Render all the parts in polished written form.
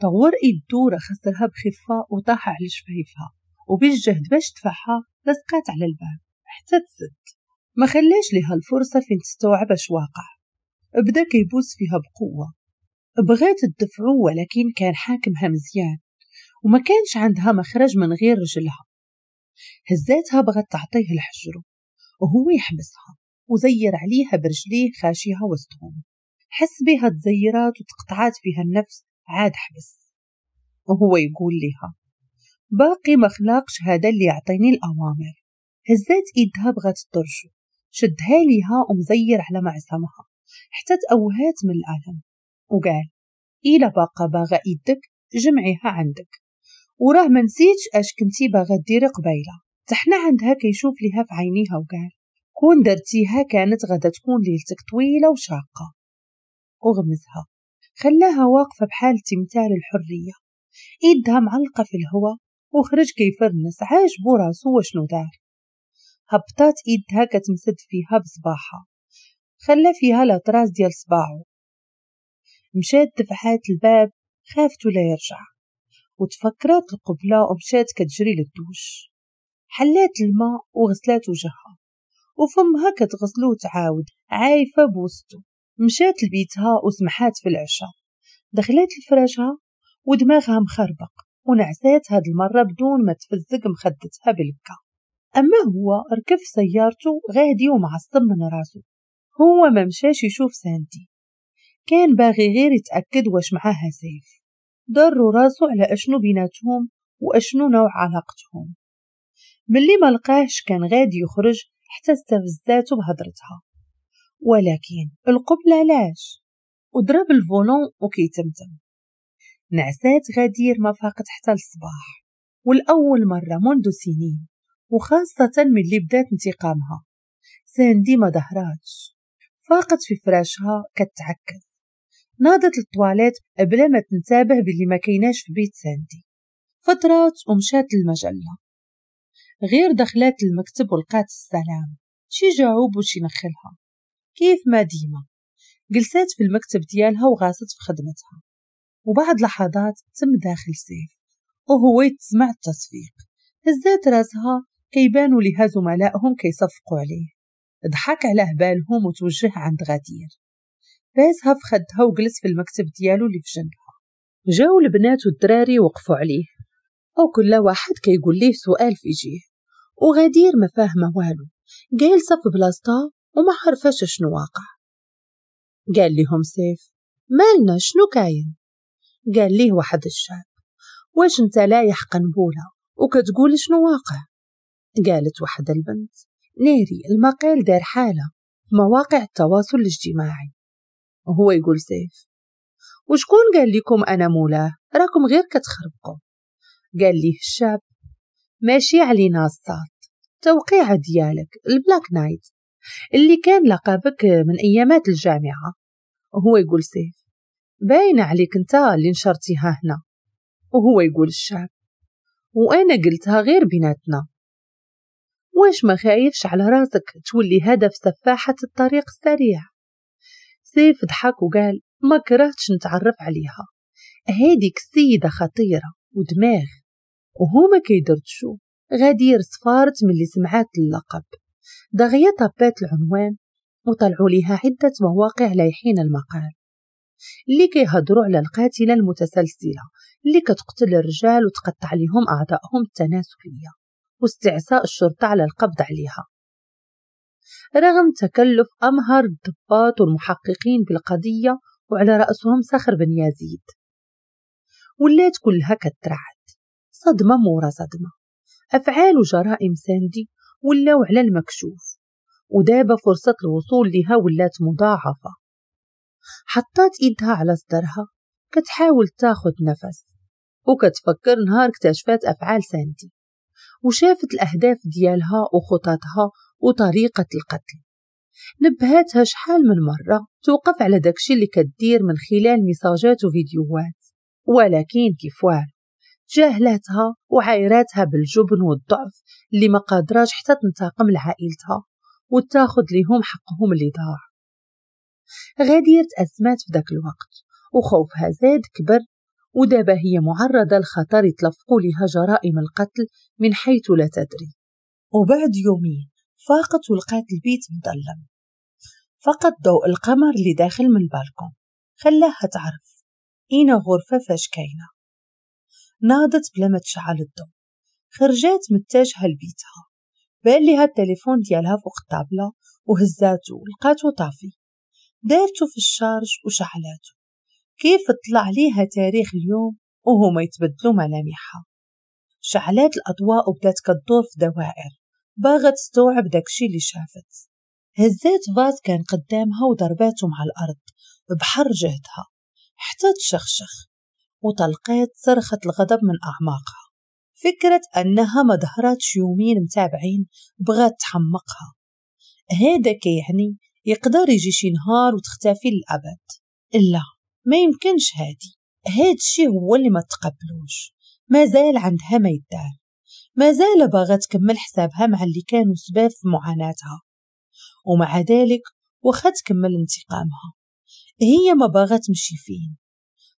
طور ايدو خسرها بخفة وطاح على شفايفها، وبالجهد باش دفعها لصقات على الباب حتى تسد. ما خلاش لها الفرصة فين تستوعب اش واقع. بدا كيبوس فيها بقوة، بغات تدفعو ولكن كان حاكمها مزيان وما كانش عندها مخرج من غير رجلها. هزاتها بغات تعطيه الحجر وهو يحبسها وزير عليها برجليه خاشيها وسطهم. حس بها تزيرات وتقطعات فيها النفس، عاد حبس وهو يقول لها باقي ما خلاقش هذا اللي يعطيني الأوامر. هزات ايدها بغات ترجو، شدها ليها ومزير على معصمها حتى تأوهات من الألم، وقال إلا باقا باغا ايدك جمعيها عندك، وراه ما نسيتش اش كنتي باغا ديري قبيله. تحنا عندها كيشوف ليها في عينيها وقال كون درتيها كانت غادا تكون ليلتك طويلة وشاقه. وغمزها خلاها واقفة بحال تمثال الحرية، ايدها معلقه في الهواء، وخرج كيفرنس عاجبو راسو وشنو دار. هبطات ايدها كتمسد فيها بصباحها، خلى فيها les traces ديال صباعو. مشات دفعات الباب خافتو لا يرجع، وتفكرات القبلة ومشات كتجري للدوش. حلات الماء وغسلات وجهها وفمها كتغسلو وتعاود عايفة بوسطو. مشات لبيتها وسمحات في العشاء، دخلات لفراشها ودماغها مخربق، ونعسات هاد المرة بدون ما تفزق مخدتها بالبكا. أما هو ركب سيارته غادي ومعصب من راسه. هو ما مشاش يشوف ساندي، كان باغي غير يتأكد واش معاها سيف. ضروا راسو على أشنو بيناتهم وأشنو نوع علاقتهم. ملي ما لقاهش كان غادي يخرج حتى استفزاتو بهضرتها، ولكن القبلة علاش؟ وضرب ال volant وكيتمتم. نعسات غدير ما فاقت حتى الصباح، والأول مرة منذ سنين، وخاصة ملي بدات انتقامها. ساندي ما ظهراتش، فاقت في فراشها كتعكز. ناضت للطواليت بلا ما تنتبه باللي ما كيناش في بيت ساندي. فترات ومشات للمجلة، غير دخلات المكتب ولقات السلام، شي جاوب وشي نخلها كيف ما ديما. جلسات في المكتب ديالها وغاصت في خدمتها، وبعد لحظات تم داخل سيف وهو يتسمع التصفيق. هزات راسها كيبانوا لها زملائهم كيصفقوا عليه. ضحك على هبالهم وتوجه عند غدير، باسها في خدها وجلس في المكتب ديالو اللي في جنبها. جاو البنات والدراري وقفوا عليه، وكل واحد كيقول ليه سؤال في جيه، وغدير ما فاهمه والو، جالسة في بلاصتها وما عرفاش شنو واقع. قال لهم سيف مالنا شنو كاين؟ قال ليه واحد الشاب واش انت لايح قنبوله وكتقول شنو واقع؟ قالت واحد البنت ناري المقال دار حاله في مواقع التواصل الاجتماعي. وهو يقول سيف وشكون قال لكم انا مولاه؟ راكم غير كتخربقوا. قال ليه الشاب ماشي علينا الصاد، توقيع ديالك ال Black Knight اللي كان لقبك من ايامات الجامعة. وهو يقول سيف باين عليك انت اللي نشرتيها هنا. وهو يقول الشاب وانا قلتها غير بيناتنا، واش ما خايفش على راسك تولي هدف سفاحة الطريق السريع؟ سيف ضحك وقال ما كرهتش نتعرف عليها، هاديك السيدة خطيرة ودماغ. وهما كيدردشو غدير صفارت من اللي سمعات اللقب. دغيا طبات العنوان وطلعوا ليها عدة مواقع لايحين المقال اللي كيهضروا على القاتلة المتسلسلة اللي كتقتل الرجال وتقطع لهم أعضائهم التناسلية، واستعصاء الشرطة على القبض عليها. رغم تكلف أمهر الضباط والمحققين بالقضية وعلى رأسهم صخر بن يزيد، ولات كلها كترعد، صدمة مورا صدمة. أفعال وجرائم ساندي ولاو على المكشوف، ودابا فرصة الوصول لها ولات مضاعفة. حطات ايدها على صدرها كتحاول تاخد نفس، وكتفكر نهار اكتشفات أفعال ساندي وشافت الأهداف ديالها وخططها وطريقة القتل. نبهاتها شحال من مرة توقف على داكشي اللي كدير من خلال ميساجات وفيديوهات، ولكن كيف والو جاهلاتها وعايراتها بالجبن والضعف اللي ما قادراش حتى تنتقم لعائلتها وتاخد ليهم حقهم اللي ضاع. غدير تأزمات في داك الوقت وخوفها زاد كبر، ودابا هي معرضة لخطر يتلفقوا لها جرائم القتل من حيث لا تدري. وبعد يومين فاقت ولقات البيت مظلم، فقط ضوء القمر اللي داخل من البالكون خلاها تعرف اين غرفة فاش كاينة. ناضت بلا ما تشعل الضوء، خرجات متجهة لبيتها. بان ليها التليفون ديالها فوق الطابلة وهزاتو، لقاتو طافي، دارتو في ال charge وشعلاتو. كيف طلع ليها تاريخ اليوم وهما يتبدلوا ملامحها. شعلات الأضواء وبدات كتدور في دوائر باغا تستوعب داكشي اللي شافت. هزات vase كان قدامها وضرباتو مع الأرض بحر جهدها حتى تشخشخ، وطلقات صرخة الغضب من أعماقها. فكرة أنها ما ظهراتش يومين متابعين بغات تحمقها. هذا كيعني يقدر يجي شي نهار وتختفي للأبد. لا، ما يمكنش. هاد الشي هو اللي ما تقبلوش. مازال عندها ما يدار، مازال باغا تكمل حسابها مع اللي كانوا سباب في معاناتها، ومع ذلك واخا تكمل انتقامها هي ما باغا تمشي فين،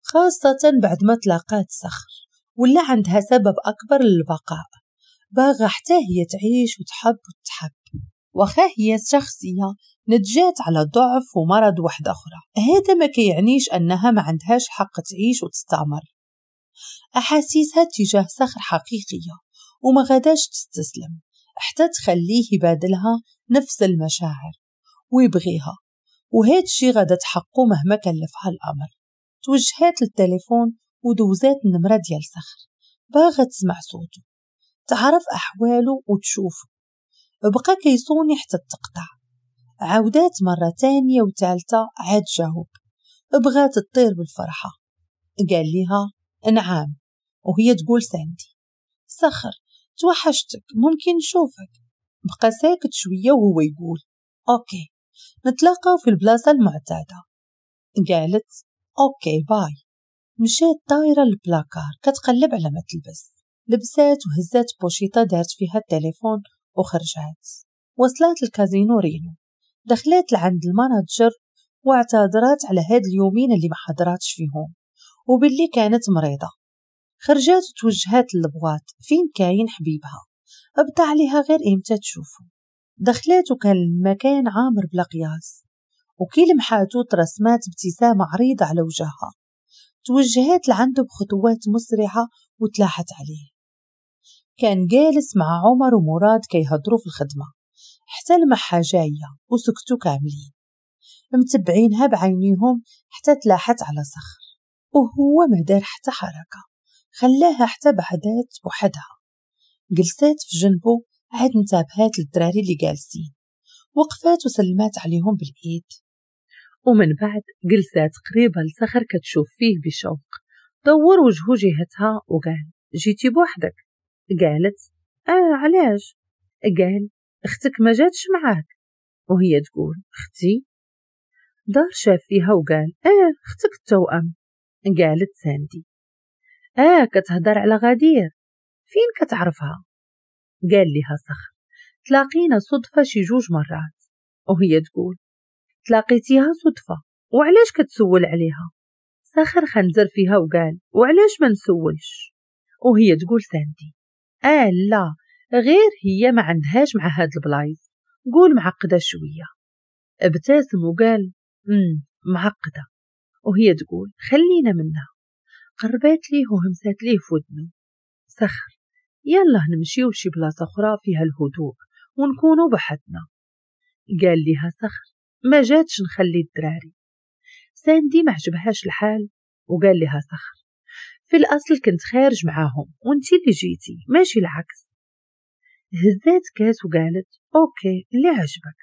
خاصة بعد ما تلاقات صخر ولا عندها سبب أكبر للبقاء. باغا حتى هي تعيش وتحب وتحب، واخا هي شخصية نتجات على ضعف ومرض واحدة أخرى، هذا ما كيعنيش أنها ما عندهاش حق تعيش وتستعمر. أحاسيسها تجاه صخر حقيقية وما غاداش تستسلم حتى تخليه يبادلها نفس المشاعر ويبغيها، وهاد الشي غادا تحقه مهما كلفها الأمر. توجهات للتليفون ودوزات النمرة ديال صخر، باغا تسمع صوته، تعرف أحواله وتشوفه. بقى كيصوني حتى تقطع. عاودات مرة تانية وثالثة عاد جاوب. بغات تطير بالفرحة. قال لها نعم، وهي تقول ساندي. صخر توحشتك، ممكن نشوفك؟ بقى ساكت شوية وهو يقول okay، نتلاقاو في البلاصة المعتادة. قالت okay bye. مشات طايرة للبلاكار كتقلب على ما تلبس. لبسات وهزات بوشيطة دارت فيها التليفون وخرجات. وصلت الكازينو رينو، دخلت لعند ال manager واعتذرات على هاد اليومين اللي ما حضراتش فيهم وباللي كانت مريضة. خرجات وتوجهات لل boîte فين كاين حبيبها، ابدا عليها غير امتى تشوفه. دخلات وكان المكان عامر بلا قياس، وكي لمحاتو ترسمات ابتسامة عريضة على وجهها. توجهات لعنده بخطوات مسرعة وتلاحت عليه. كان جالس مع عمر ومراد كيهضروا في الخدمة حتى لمحها جاية وسكتوا كاملين متبعينها بعينيهم حتى تلاحت على صخر، وهو ما دار حتى حركة، خلاها حتى بعدات وحدها. جلسات في جنبه عاد انتبهات للدراري اللي جالسين، وقفات وسلمات عليهم بالإيد، ومن بعد جلسات قريبة لصخر كتشوف فيه بشوق. دور وجهه جهتها وقال جيتي بوحدك؟ قالت علاش؟ قال اختك ما جاتش معاك؟ وهي تقول اختي؟ دار شاف فيها وقال اختك التوأم. قالت ساندي كتهدر على غدير، فين كتعرفها؟ قال لها صخر تلاقينا صدفة شي 2 مرات. وهي تقول تلاقيتيها صدفة وعلاش كتسول عليها؟ صخر خنزر فيها وقال وعلاش ما نسولش؟ وهي تقول ساندي لا غير هي ما عندهاش مع هاد البلايص، قول معقدة شوية. ابتسم وقال معقدة. وهي تقول خلينا منها. قربات ليه وهمسات ليه في ودنه صخر يلا نمشيو لشي بلاصة أخرى فيها الهدوء ونكونوا بحدنا. قال لها صخر ما جاتش نخلي الدراري. ساندي ما عجبهاش الحال وقال لها صخر في الأصل كنت خارج معاهم وانتي اللي جيتي ماشي العكس. هزات كاس وقالت okay اللي عجبك.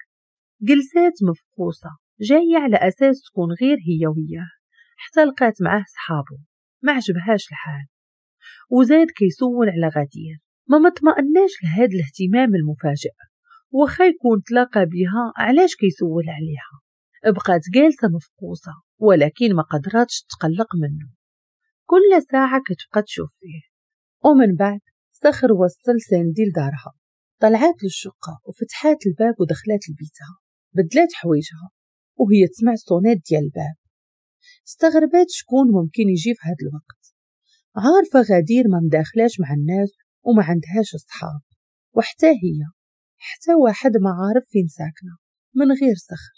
جلسات مفقوصة جاية على أساس تكون غير هي وياه، حتى لقات معاه صحابه ما عجبهاش الحال، وزاد كيسول على غدير. ما مطمئناش لهاد الاهتمام المفاجئ، وخا يكون تلاقى بها علاش كيسول عليها. بقات جالسة مفقوصة ولكن ما قدراتش تقلق منه، كل ساعة كتبقى تشوف فيه. ومن بعد صخر وصل ساندي لدارها. طلعت للشقة وفتحات الباب ودخلت لبيتها، بدلات حوايجها وهي تسمع الصونات ديال الباب. استغربات شكون ممكن يجي في هذا الوقت. عارفة غدير ما مداخلاش مع الناس وما عندهاش أصحاب، وحتى هي حتى واحد ما عارف فين ساكنة من غير صخر.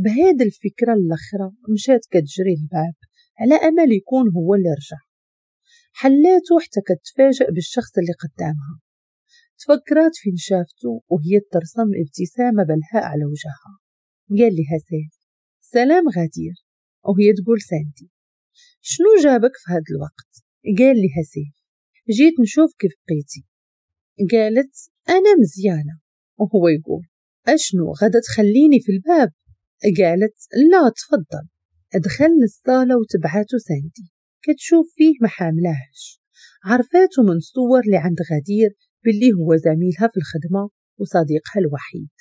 بهاد الفكرة الأخرى مشات كتجري الباب على أمل يكون هو اللي رجع. حلاته حتى كتفاجأ بالشخص اللي قدامها. تفكرات فين شافته وهي ترسم ابتسامة بلهاء على وجهها. قال لها سيف سلام غدير، وهي تقول ساندي شنو جابك في هاد الوقت؟ قال لها سيف جيت نشوف كيف بقيتي. قالت أنا مزيانة، وهو يقول أشنو غدا تخليني في الباب؟ قالت لا تفضل. دخل للصالة وتبعته ساندي كتشوف فيه ما حاملاهش. عرفاته من صور اللي عند غدير باللي هو زميلها في الخدمة وصديقها الوحيد،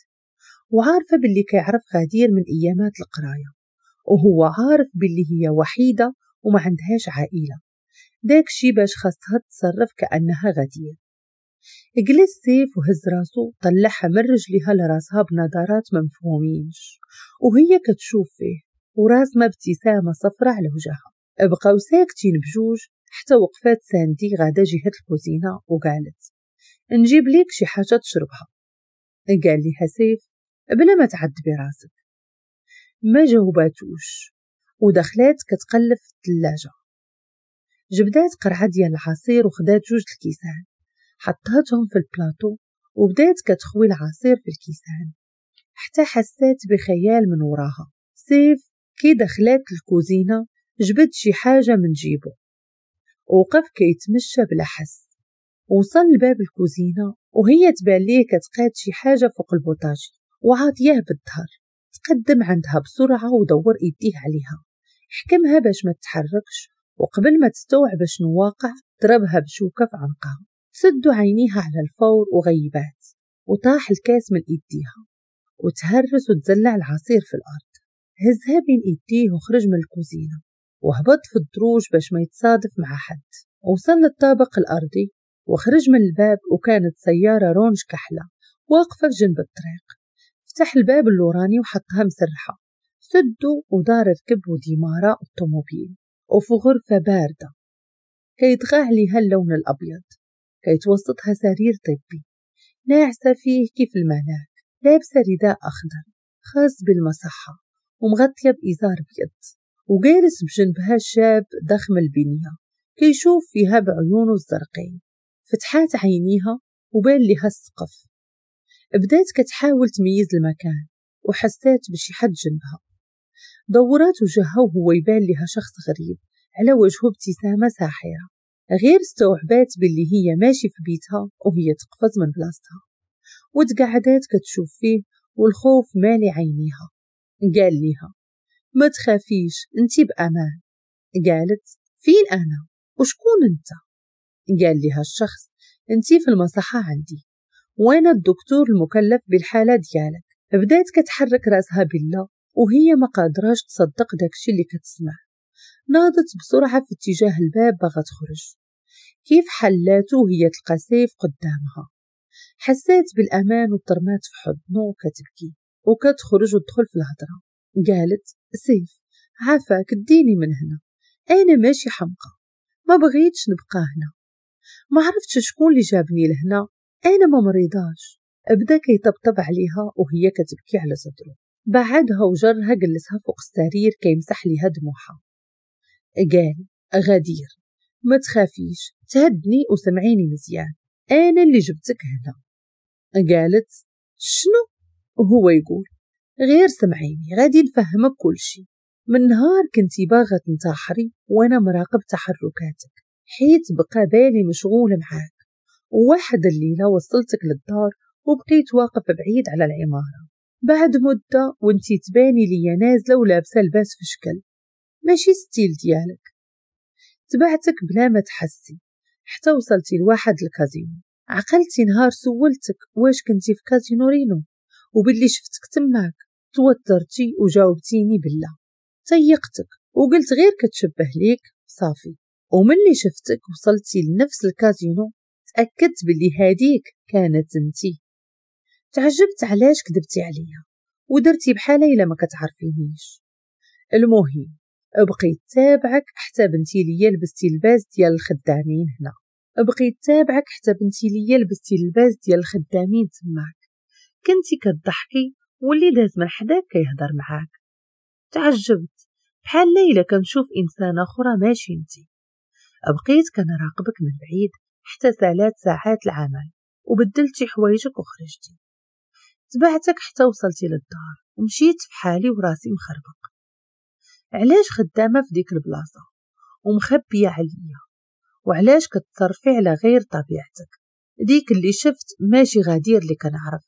وعارفة باللي كيعرف غدير من أيامات القراية، وهو عارف باللي هي وحيدة وما عندهاش عائلة، داكشي باش خاصها تتصرف كأنها غدير. جلس سيف وهز راسو طلعها من رجليها لراسها بنظرات ممفهومينش، وهي كتشوف فيه وراسمة ابتسامة صفرة على وجهها. بقاو ساكتين بجوج حتى وقفات ساندي غادا جهة الكوزينة وقالت نجيب ليك شي حاجة تشربها. قال لها سيف بلا ما تعذبي راسك. ما جاوباتوش ودخلات كتقلب في الثلاجة. جبدات قرعة ديال العصير وخدات جوج الكيسان حطاتهم في البلاطو وبدات كتخوي العصير في الكيسان حتى حسات بخيال من وراها. سيف كي دخلات الكوزينة جبد شي حاجة من جيبه وقف كيتمشى بلا حس. وصل لباب الكوزينة وهي تبان ليه كتقاد شي حاجة فوق البوطاجي وعاطياه بالظهر. تقدم عندها بسرعة ودور ايديه عليها، حكمها باش ما تتحركش، وقبل ما تستوعب شنو واقع ضربها بشوكة في عنقها. سدوا عينيها على الفور وغيبات، وطاح الكاس من ايديها وتهرس وتزلع العصير في الارض. هزها بين ايديه وخرج من الكوزينة وهبط في الدروج باش ما يتصادف مع حد. وصل للطابق الارضي وخرج من الباب، وكانت سيارة رونج كحلة واقفة في جنب الطريق. فتح الباب اللوراني وحطها مسرحة، سدو ودار ركب وديمارة الطوموبيل. وفي غرفة باردة كيطغى عليها اللون الأبيض، كيتوسطها سرير طبي ناعسة فيه كيف الملاك، لابسة رداء أخضر خاص بالمصحة ومغطية بإزار أبيض، وجالس بجنبها شاب ضخم البنية كيشوف فيها بعيونه الزرقين. فتحات عينيها وبان لها السقف. بدات كتحاول تميز المكان وحسات بشي حد جنبها. دورات وجهها وهو يبان لها شخص غريب على وجهه ابتسامة ساحرة. غير استوعبات باللي هي ماشي في بيتها وهي تقفز من بلاصتها وتقعدات كتشوف فيه والخوف مالي عينيها. قال لها ما تخافيش انتي بأمان. قالت فين أنا وشكون انت؟ قال لها الشخص انتي في المصحة عندي وانا الدكتور المكلف بالحالة ديالك. بدات كتحرك راسها بالله وهي ما قادراش تصدق داكشي اللي كتسمع. ناضت بسرعة في اتجاه الباب باغا تخرج. كيف حلاته وهي تلقى سيف قدامها. حسات بالأمان وترمات في حضنه وكتبكي وكتخرج وتدخل في الهضرة. قالت سيف عافاك ديني من هنا، أنا ماشي حمقى، ما بغيتش نبقى هنا، ما عرفتش شكون اللي جابني لهنا، أنا ما مريضاش. بدا كيطبطب عليها وهي كتبكي على صدره. بعدها وجرها جلسها فوق السرير كيمسح ليها دموعها. قال غدير ما تخافيش، تهدني وسمعيني مزيان، أنا اللي جبتك هنا. قالت شنو؟ وهو يقول غير سمعيني غادي نفهمك كل شيء. من نهار كنتي باغة تنتحري وانا مراقب تحركاتك، حيت بقى بالي مشغول معاك، وواحد الليلة وصلتك للدار وبقيت واقف بعيد على العمارة. بعد مدة وانتي تباني ليا نازلة ولابسة لباس في شكل ماشي style ديالك. تبعتك بلا ما تحسي حتى وصلتي لواحد الكازينو. عقلتي نهار سولتك واش كنتي في كازينو رينو وباللي شفتك تماك، توترتي وجاوبتيني بالله. تيقتك وقلت غير كتشبه ليك صافي. وملي شفتك وصلتي لنفس الكازينو تأكدت باللي هاديك كانت انتي. تعجبت علاش كذبتي عليا ودرتي بحالة إلا ما كتعرفينيش. المهم بقيت تابعك حتى بنتي ليا لبستي اللباس ديال الخدامين هنا، بقيت تابعك حتى بنتي ليا لبستي اللباس ديال الخدامين تماك. كنتي كتضحكي واللي داز من حداك كيهضر معاك. تعجبت بحال ليلى كنشوف انسانه اخرى ماشي انتي. بقيت كنراقبك من بعيد حتى سالات ساعات العمل وبدلتي حوايجك وخرجتي. تبعتك حتى وصلتي للدار ومشيت في حالي وراسي مخربق. علاش خدامه في ديك البلاصة ومخبيه عليا؟ وعلاش كتصرفي على غير طبيعتك؟ ديك اللي شفت ماشي غدير اللي كنعرف.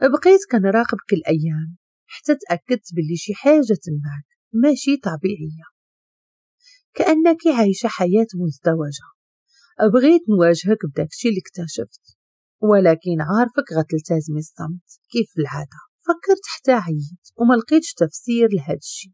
بقيت كنراقبك الايام حتى تاكدت باللي شي حاجة تماك ماشي طبيعية، كانك عايشه حياة مزدوجة. بغيت نواجهك بداكشي اللي اكتشفت، ولكن عارفك غتلتزمي الصمت كيف العادة. فكرت حتى عييت وما لقيتش تفسير لهذا الشيء،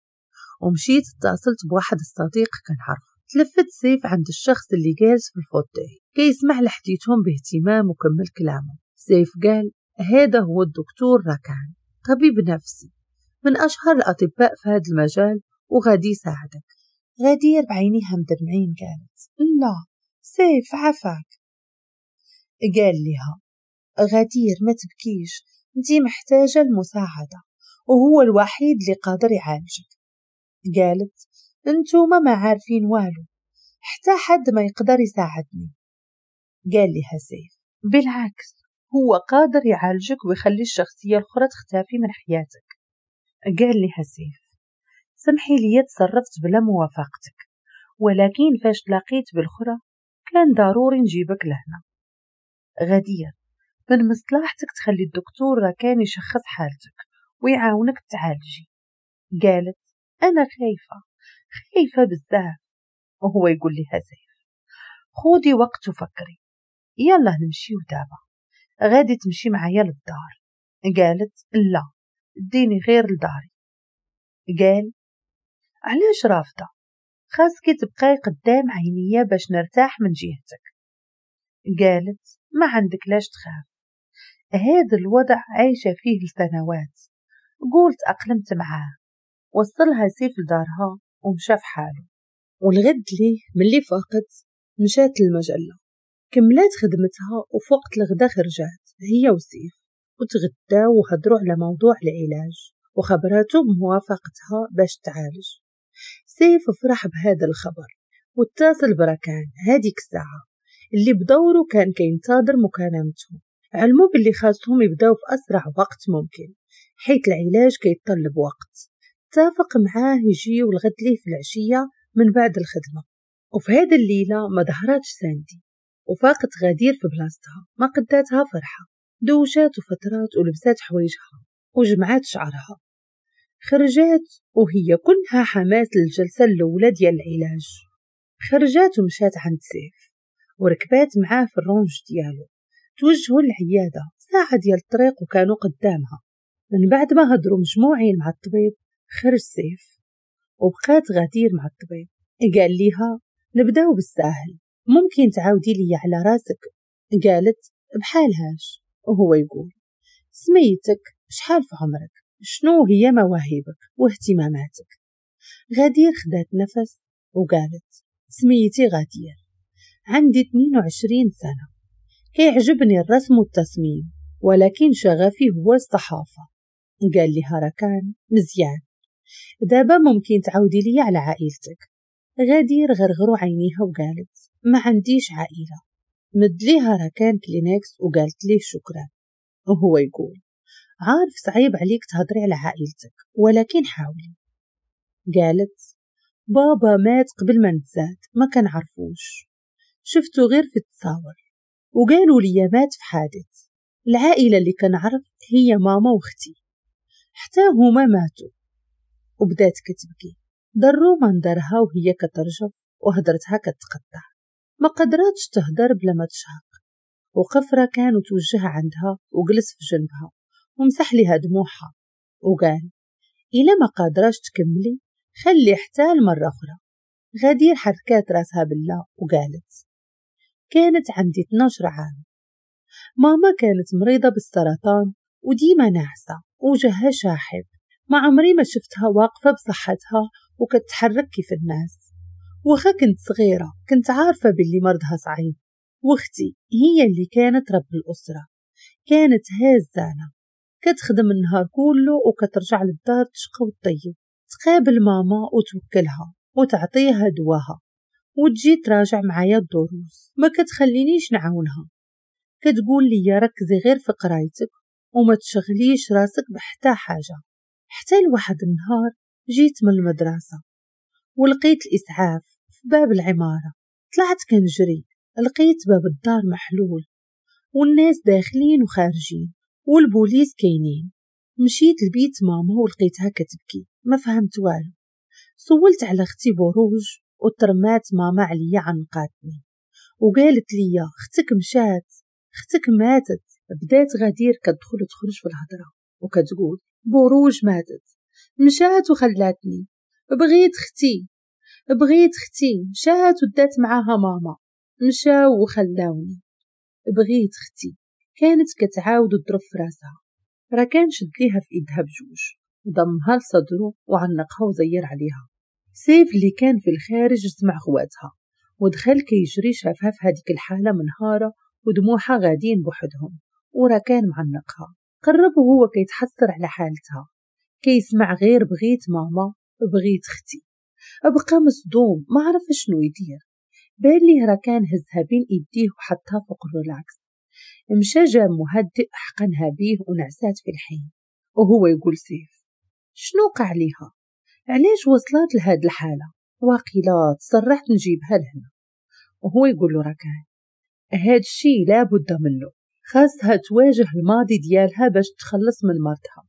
ومشيت اتصلت بواحد الصديق كنعرفه. تلفت سيف عند الشخص اللي جالس في ال fauteuil كيسمع لحديثهم باهتمام وكمل كلامه. سيف قال هذا هو الدكتور ركان، طبيب نفسي من أشهر الأطباء في هذا المجال وغادي يساعدك. غدير بعينيها مدمعين قالت لا سيف عفاك. قال لها غدير ما تبكيش، انتي محتاجة المساعدة وهو الوحيد اللي قادر يعالجك. قالت انتوما ما عارفين والو، حتى حد ما يقدر يساعدني. قال لها سيف بالعكس، هو قادر يعالجك ويخلي الشخصية الأخرى تختفي من حياتك. قال لها سيف سمحي لي تصرفت بلا موافقتك، ولكن فاش تلاقيت بالأخرى كان ضروري نجيبك لهنا. غدير من مصلحتك تخلي الدكتور ركان يشخص حالتك ويعاونك تعالجي. قالت أنا خايفة، خايفة بزاف. وهو يقول لها سيف خودي وقت وفكري، يلا نمشيو دابا، غادي تمشي معايا للدار. قالت لا ديني غير لداري. قال علاش رافضة؟ خاصك تبقاي قدام عينيا باش نرتاح من جهتك. قالت ما عندك لاش تخاف، هذا الوضع عايشة فيه لسنوات، قلت أقلمت معاه. وصلها سيف لدارها ومشى في حاله. والغد ليه ملي فاقت مشات للمجلة، كملات خدمتها، وفي وقت الغدا خرجات هي وسيف وتغداو وهضروا على موضوع العلاج وخبراته بموافقتها باش تعالج. سيف فرح بهذا الخبر واتصل بركان هذيك الساعة اللي بدوره كان كينتظر مكالمتهم. علموا باللي خاصهم يبداو في أسرع وقت ممكن حيث العلاج كيتطلب وقت. اتفق معاه يجي والغد ليه في العشية من بعد الخدمة. وفي هذا الليلة ما ظهراتش ساندي، وفاقت غدير في بلاصتها ما قداتها فرحة. دوشات وفترات ولبسات حوايجها وجمعات شعرها، خرجات وهي كلها حماس للجلسة الأولى ديال العلاج. خرجات ومشات عند سيف وركبات معاه في الرونج ديالو. توجهوا للعيادة، ساعة ديال الطريق وكانوا قدامها. من بعد ما هضروا مجموعين مع الطبيب خرج سيف وبقات غدير مع الطبيب. قال ليها نبداو بالساهل، ممكن تعاودي لي على راسك؟ قالت بحالهاش. وهو يقول سميتك، شحال في عمرك، شنو هي مواهبك واهتماماتك؟ غدير خدات نفس وقالت سميتي غدير، عندي 22 سنة، كيعجبني الرسم والتصميم، ولكن شغفي هو الصحافة. قال لها ركان مزيان، دابا ممكن تعاودي لي على عائلتك؟ غدير غرغروا عينيها وقالت ما عنديش عائلة. مد ليها ركان كلينكس وقالت ليه شكرا. وهو يقول عارف صعيب عليك تهضري على عائلتك، ولكن حاولي. قالت بابا مات قبل ما نتزاد، ما كنعرفوش، شفتو غير في التصاور وقالوا لي مات في حادث. العائلة اللي كنعرف هي ماما واختي، حتى هما ماتوا. وبدات كتبكي، ضروا منظرها وهي كترجف وهضرتها كتقطع، ما قدراتش تهدر بلا ما تشهق. وقف ركان وتوجه عندها وجلس في جنبها ومسح لها دموعها وقال إلا ما قادراش تكملي خلي حتى المرة أخرى. غدير حركات راسها بالله وقالت كانت عندي 12 عام، ماما كانت مريضة بالسرطان وديما ناعسة وجهها شاحب، ما عمري ما شفتها واقفة بصحتها وكتحرك كيف الناس. واخا كنت صغيرة كنت عارفة باللي مرضها صعيب، واختي هي اللي كانت رب الأسرة، كانت هازانة كتخدم النهار كله وكترجع للدار تشقى وتطيب، تقابل ماما وتوكلها وتعطيها دواها وتجي تراجع معايا الدروس، ما كتخلينيش نعاونها، كتقول لي ركزي غير في قرايتك وما تشغليش راسك بحتى حاجة. حتى لواحد النهار جيت من المدرسة ولقيت الإسعاف في باب العمارة، طلعت كنجري لقيت باب الدار محلول والناس داخلين وخارجين والبوليس كاينين. مشيت لبيت ماما ولقيتها كتبكي، ما فهمت والو. سولت على اختي بروج وترمات ماما عليا عنقاتني وقالت لي اختك مشات، اختك ماتت. بدات غدير كتدخل وتخرج في الهضره وكتقول بروج ماتت، مشات وخلاتني، بغيت اختي بغيت اختي، مشات ودات معاها ماما، مشاو وخلاوني، بغيت اختي. كانت كتعاود وتضرب في راسها. ركان شد ليها في ايدها بجوج وضمها لصدره وعنقها وزير عليها. سيف اللي كان في الخارج سمع غواتها ودخل كيجري، شافها في هذيك الحاله منهاره ودموعها غاديين بوحدهم وركان معنقها. قرب وهو كيتحسر على حالتها، كيسمع غير بغيت ماما بغيت اختي. بقى مصدوم ما عرف شنو يدير. بان ليه ركان هزها بين ايديه وحطها فوق الريلاكس، مشى جاب مهدئ حقنها بيه ونعسات في الحين. وهو يقول سيف شنو وقع ليها؟ علاش وصلت لهاد الحالة؟ واقيلا تسرحت نجيبها لهنا. وهو يقول له ركان هاد الشي لابد منه، خاصها تواجه الماضي ديالها باش تخلص من مرضها،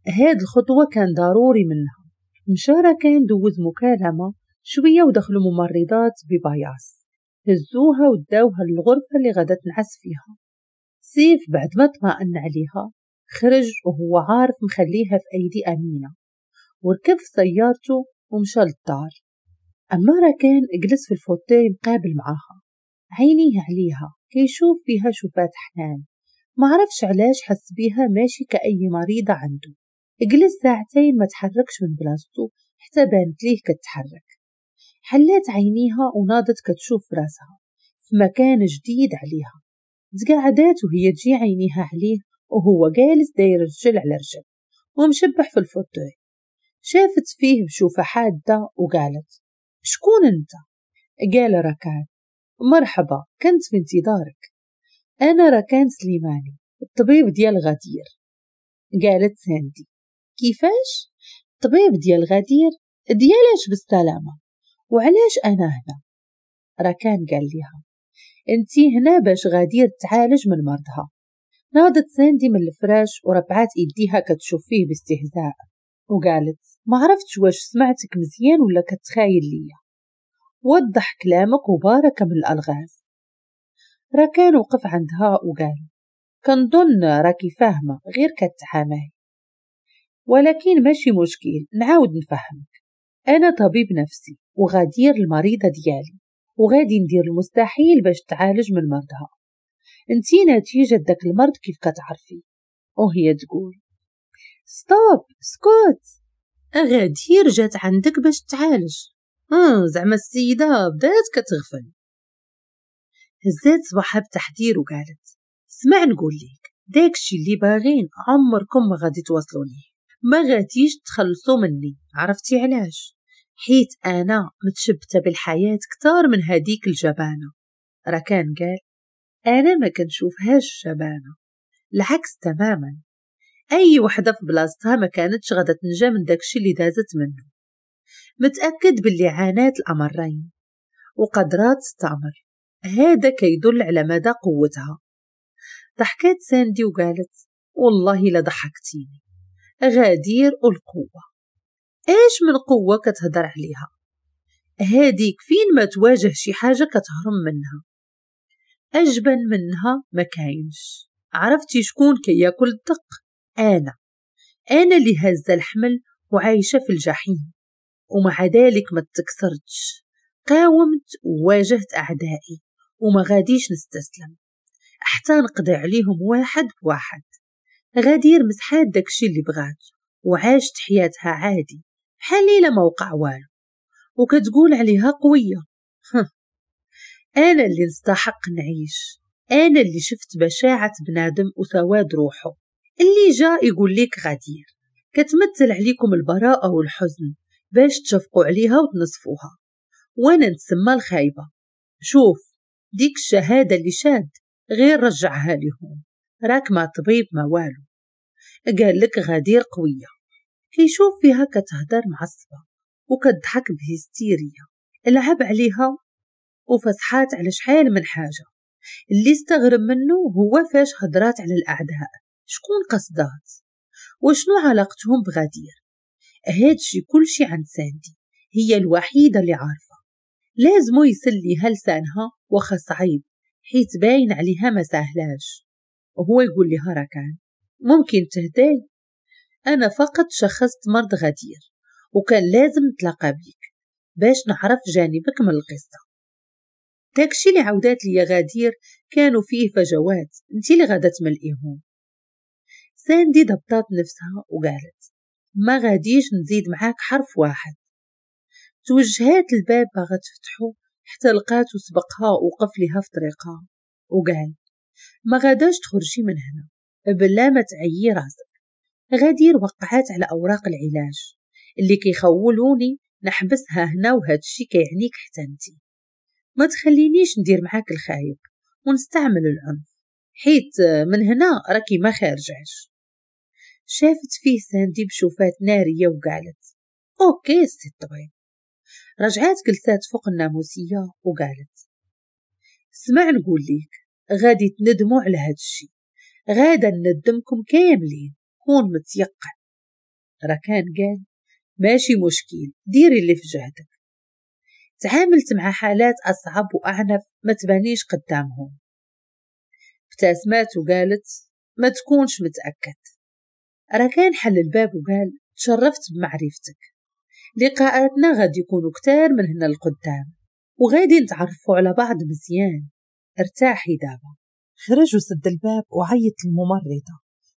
هاد الخطوة كان ضروري منها. مشى ركان دوز مكالمة شوية ودخلوا ممرضات ببياص، هزوها وداوها للغرفة اللي غادا تنعس فيها. سيف بعد ما اطمأن عليها خرج وهو عارف مخليها في أيدي أمينة، وركب في سيارته ومشى للدار. أما ركان جلس في ال fauteuil مقابل معاها، عينيه عليها كيشوف فيها شوفات حنان، ما عرفش علاش حس بيها ماشي كأي مريضة عنده. جلس ساعتين ما تحركش من بلاصتو حتى بانت ليه كتحرك. حلات عينيها وناضت كتشوف راسها في مكان جديد عليها. تقعدات وهي تجي عينيها عليه وهو جالس داير رجل على رجل ومشبح في ال fauteuil. شافت فيه بشوفة حادة وقالت شكون انت؟ قال ركان مرحبا، كنت في انتظارك، انا ركان سليماني الطبيب ديال غدير. قالت ساندي كيفاش الطبيب ديال غدير؟ ديالاش بالسلامة؟ وعلاش انا هنا؟ ركان قال لها انتي هنا باش غدير تعالج من مرضها. ناضت ساندي من الفراش وربعات ايديها كتشوف فيه باستهزاء وقالت ما عرفتش واش سمعتك مزيان ولا كتخايل ليا، وضح كلامك وبارك من الالغاز. ركان وقف عندها وقال كنظن راكي فاهمه غير كتعاماي، ولكن ماشي مشكل نعاود نفهمك. انا طبيب نفسي وغدير المريضه ديالي وغادي ندير المستحيل باش تعالج من مرضها. انتي نتيجه داك المرض كيف كتعرفي. وهي تقول stop سكوت، غدير جات عندك باش تعالج. زعما السيده بدات كتغفل. هزات صباحها بتحذير وقالت سمع نقول لك داكشي اللي باغين عمركم ما غادي توصلوا ليه، ما غاديش تخلصوا مني. عرفتي علاش؟ حيت انا متشبته بالحياه كتار من هذيك الجبانه. ركان قال انا ما كنشوفهاش جبانه، العكس تماما، اي وحده في بلاصتها ما كانتش غادا تنجا من داكشي اللي دازت منه. متاكد باللي عانات الامرين وقدرات تستعمر، هذا كيدل على مدى قوتها. ضحكات ساندي وقالت والله لا ضحكتيني، غدير والقوة، ايش من قوة كتهدر عليها؟ هاديك فين ما تواجه شي حاجة كتهرم منها، أجبن منها ما كاينش. عرفتي شكون كياكل الدق؟ أنا اللي هازة الحمل وعايشة في الجحيم، ومع ذلك ما تكسرتش، قاومت وواجهت أعدائي وما غاديش نستسلم حتى نقضي عليهم واحد بواحد. غدير مسحات داكشي اللي بغات وعاشت حياتها عادي بحال الا ما وقع والو. وكتقول عليها قوية. أنا اللي نستحق نعيش، أنا اللي شفت بشاعة بنادم وسواد روحه. اللي جاء يقول لك غدير كتمثل عليكم البراءة والحزن باش تشفقوا عليها وتنصفوها، وانا نتسمى الخايبة. شوف ديك الشهادة اللي شاد غير رجعها لهم، راك ما طبيب ما والو. قال لك غدير قوية. كيشوف فيها كتهدر معصبة وكتضحك بهستيرية، لعب عليها وفصحات على شحال من حاجة. اللي استغرب منه هو فاش هدرات على الأعداء، شكون قصدات وشنو علاقتهم بغدير؟ هادشي كلشي عند ساندي، هي الوحيدة اللي عارفة. لازمو يسليها لسانها واخا صعيب، حيت باين عليها ما سهلاش. وهو يقول لها ركان ممكن تهداي، أنا فقط شخصت مرض غدير وكان لازم نتلاقى بيك باش نعرف جانبك من القصة. داكشي اللي عودات ليا غدير كانوا فيه فجوات انتي اللي غادا تملئيهم. ساندي ضبطات نفسها وقالت ما غاديش نزيد معاك حرف واحد. توجهات الباب باغا تفتحو حتى لقاتو سبقها وقف ليها في طريقها وقال ما غاداش تخرجي من هنا بلا ما تعيي راسك. غدير وقعات على اوراق العلاج اللي كيخولوني نحبسها هنا، وهادشي كيعنيك حتى انتي. ما تخلينيش ندير معاك الخايب ونستعمل العنف، حيت من هنا راكي ما خارجاش. شافت فيه ساندي بشوفات نارية وقالت OK سي الطبيب. رجعات جلسات فوق الناموسية وقالت سمع نقول ليك غادي تندموا على هاد الشي، غادا ندمكم كاملين، كون متيقن. ركان قال ماشي مشكل، ديري اللي في جهدك. تعاملت مع حالات أصعب وأعنف ما تبانيش قدامهم. ابتسمات وقالت ما تكونش متأكد. ركان حل الباب وقال تشرفت بمعرفتك، لقاءاتنا غادي يكونوا كتار من هنا لقدام وغادي نتعرفوا على بعض مزيان، ارتاحي دابا. خرج وسد الباب وعيط الممرضة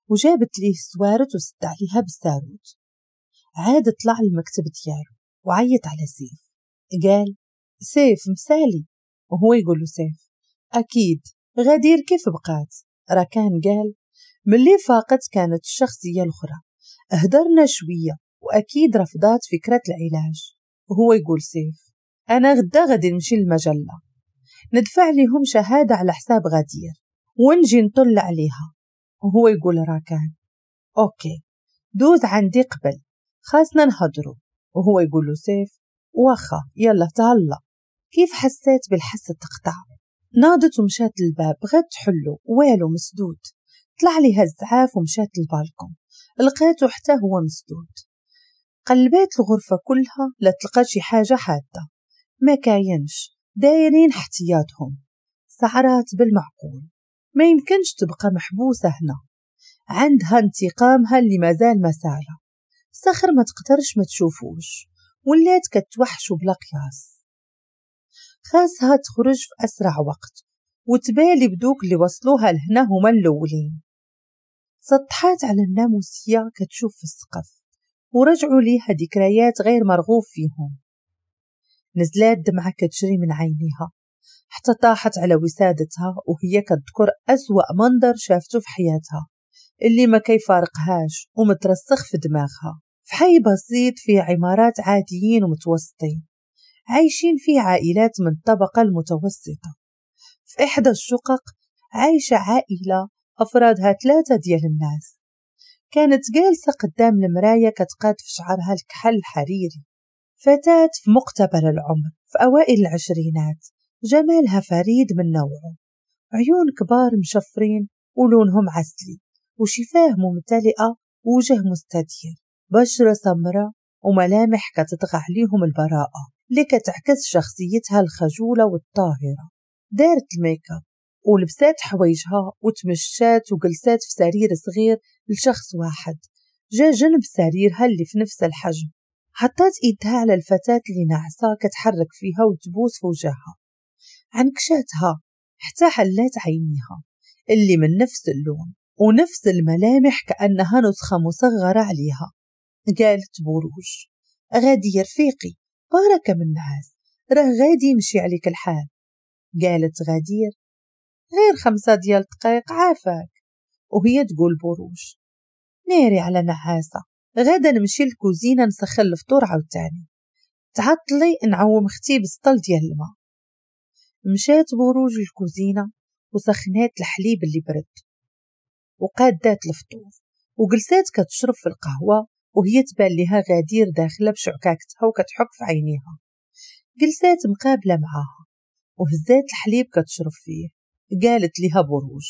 وجابت ليه السوارت وسد عليها بالساروت. عاد طلع المكتب ديالو وعيط على سيف، قال سيف مسالي، وهو يقول له سيف أكيد غدير كيف بقات؟ ركان قال ملي فاقت كانت الشخصية الأخرى، هدرنا شوية وأكيد رفضات فكرة العلاج. وهو يقول سيف أنا غدا غادي نمشي للمجلة ندفع لهم شهادة على حساب غدير ونجي نطل عليها. وهو يقول راكان OK دوز عندي قبل خاصنا نهضرو. وهو يقول له سيف واخا يلا تهلا. كيف حسيت بالحس تقطع، ناضت ومشات للباب بغات تحلو والو مسدود. طلع ليها الزعاف ومشات للبالكون لقيته حتى هو مسدود. قلبات الغرفة كلها لا تلقى شي حاجة حادة، ما كاينش، دايرين احتياطهم. سعرات بالمعقول، ما يمكنش تبقى محبوسة هنا، عندها انتقامها اللي مازال ما سالة. صخر ما تقدرش ما تشوفوش، ولات كتوحشو بلا قياس. خاصها تخرج في أسرع وقت وتبالي بدوك اللي وصلوها لهنا هما الأولين. سطحات على الناموسية كتشوف في السقف ورجعوا ليها ذكريات غير مرغوب فيهم. نزلات دمعة كتجري من عينيها حتى طاحت على وسادتها وهي كتذكر أسوأ منظر شافته في حياتها اللي ما كيفارقهاش ومترسخ في دماغها. في حي بسيط فيه عمارات عاديين ومتوسطين عايشين فيه عائلات من الطبقة المتوسطة. في إحدى الشقق عايشة عائلة أفرادها 3 ديال الناس. كانت جالسة قدام المراية كتقاد في شعرها الكحل الحريري، فتاة في مقتبل العمر في أوائل العشرينات، جمالها فريد من نوعه، عيون كبار مشفرين ولونهم عسلي، وشفاه ممتلئة ووجه مستدير، بشرة سمراء وملامح كتطغى عليهم البراءة اللي كتعكس شخصيتها الخجولة والطاهرة. دارت الميك اب ولبسات حوايجها وتمشات وجلسات في سرير صغير لشخص واحد جا جنب سريرها اللي في نفس الحجم. حطات ايدها على الفتاة اللي ناعسة كتحرك فيها وتبوس في وجهها، عنكشاتها حتى حلات عينيها اللي من نفس اللون ونفس الملامح كأنها نسخة مصغرة عليها. قالت بروج غادي رفيقي باركه من النعاس، راه غادي يمشي عليك الحال. قالت غدير غير 5 ديال الدقايق عافاك. وهي تقول بروج ناري على نعاسه، غدا نمشي للكوزينه نسخن الفطور عاوتاني، تعطلي نعوم اختي بالسطل ديال الماء. مشات بروج للكوزينه وسخنات الحليب اللي برد وقادات الفطور وجلسات كتشرب في القهوة، وهي تبان لها غدير داخله بشعكاكتها وكتحك في عينيها. جلسات مقابله معاها وهزات الحليب كتشرب فيه. قالت لها بروج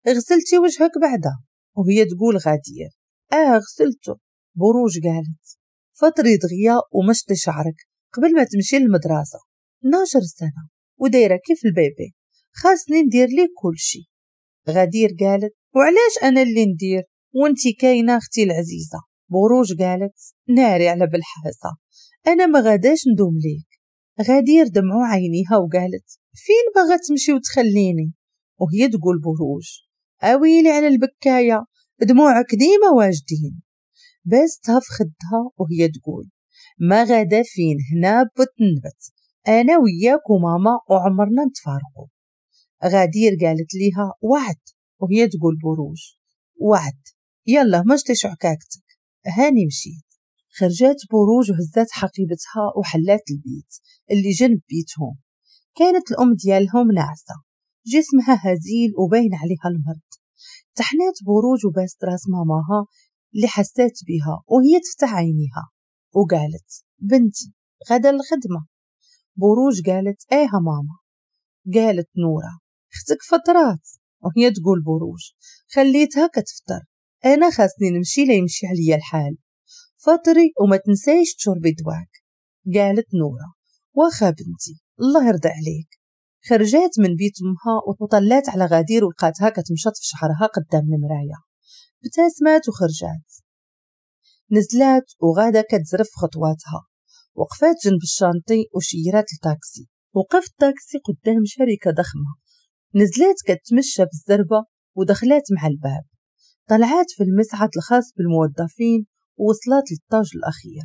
غسلتي وجهك بعدا؟ وهي تقول غدير غسلته. بروج قالت فطري دغيا ومشطي شعرك قبل ما تمشي للمدرسة، 12 سنة ودايره كيف ال bébé، خاصني ندير ليك كل شيء. غدير قالت وعلاش انا اللي ندير وانتي كاينه اختي العزيزة؟ بروج قالت ناري على بالحاسه، انا ما غاداش ندوم ليك. غدير دمعوا عينيها وقالت فين باغا تمشي وتخليني؟ وهي تقول بروج اويلي على البكايه، دموعك ديما واجدين. باستها في خدها وهي تقول ما غادا فين، هنا بتنبت انا وياك وماما وعمرنا نتفارقوا. غدير قالت ليها وعد. وهي تقول بروج وعد، يلا مشتي شعكاكتك، هاني مشيت. خرجات بروج وهزات حقيبتها وحلات البيت اللي جنب بيتهم. كانت الأم ديالهم ناعسة، جسمها هزيل وباين عليها المرض. تحنات بروج وباست راس ماماها اللي حسات بها وهي تفتح عينيها وقالت بنتي غدا الخدمة. بروج قالت ايه ماما. قالت نورة اختك فطرات. وهي تقول بروج خليتها كتفطر، انا خاصني نمشي لا يمشي عليا الحال، فطري وما تنسايش تشربي دواك. قالت نورة واخا بنتي الله يرضى عليك. خرجات من بيت امها وطلات على غدير ولقاتها كتمشط في شعرها قدام المراية. ابتسمات وخرجات، نزلات وغاده كتزرف خطواتها. وقفات جنب ال chantier وشيرات التاكسي. وقف التاكسي قدام شركة ضخمة. نزلات كتمشى بالزربه ودخلات مع الباب. طلعات في المصعد الخاص بالموظفين ووصلت لل étage الأخير.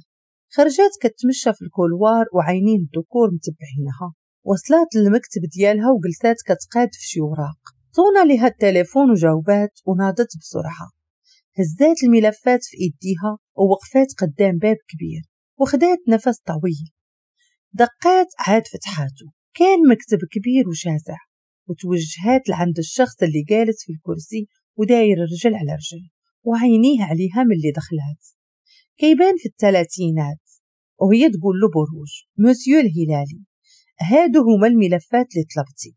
خرجات كتمشى في ال couloir وعينين الذكور متبعينها. وصلت للمكتب ديالها وجلسات كتقاد في شي وراق. صونا لها التليفون وجاوبات وناضت بسرعة. هزات الملفات في ايديها ووقفات قدام باب كبير وخدات نفس طويل. دقات عاد فتحاته. كان مكتب كبير وشاسع، وتوجهات لعند الشخص اللي جالس في الكرسي وداير رجل على رجل وعينيه عليها من اللي دخلات. كيبان في الثلاثينات. وهي تقول له بروج مسيو الهلالي هادو هما الملفات اللي طلبتي.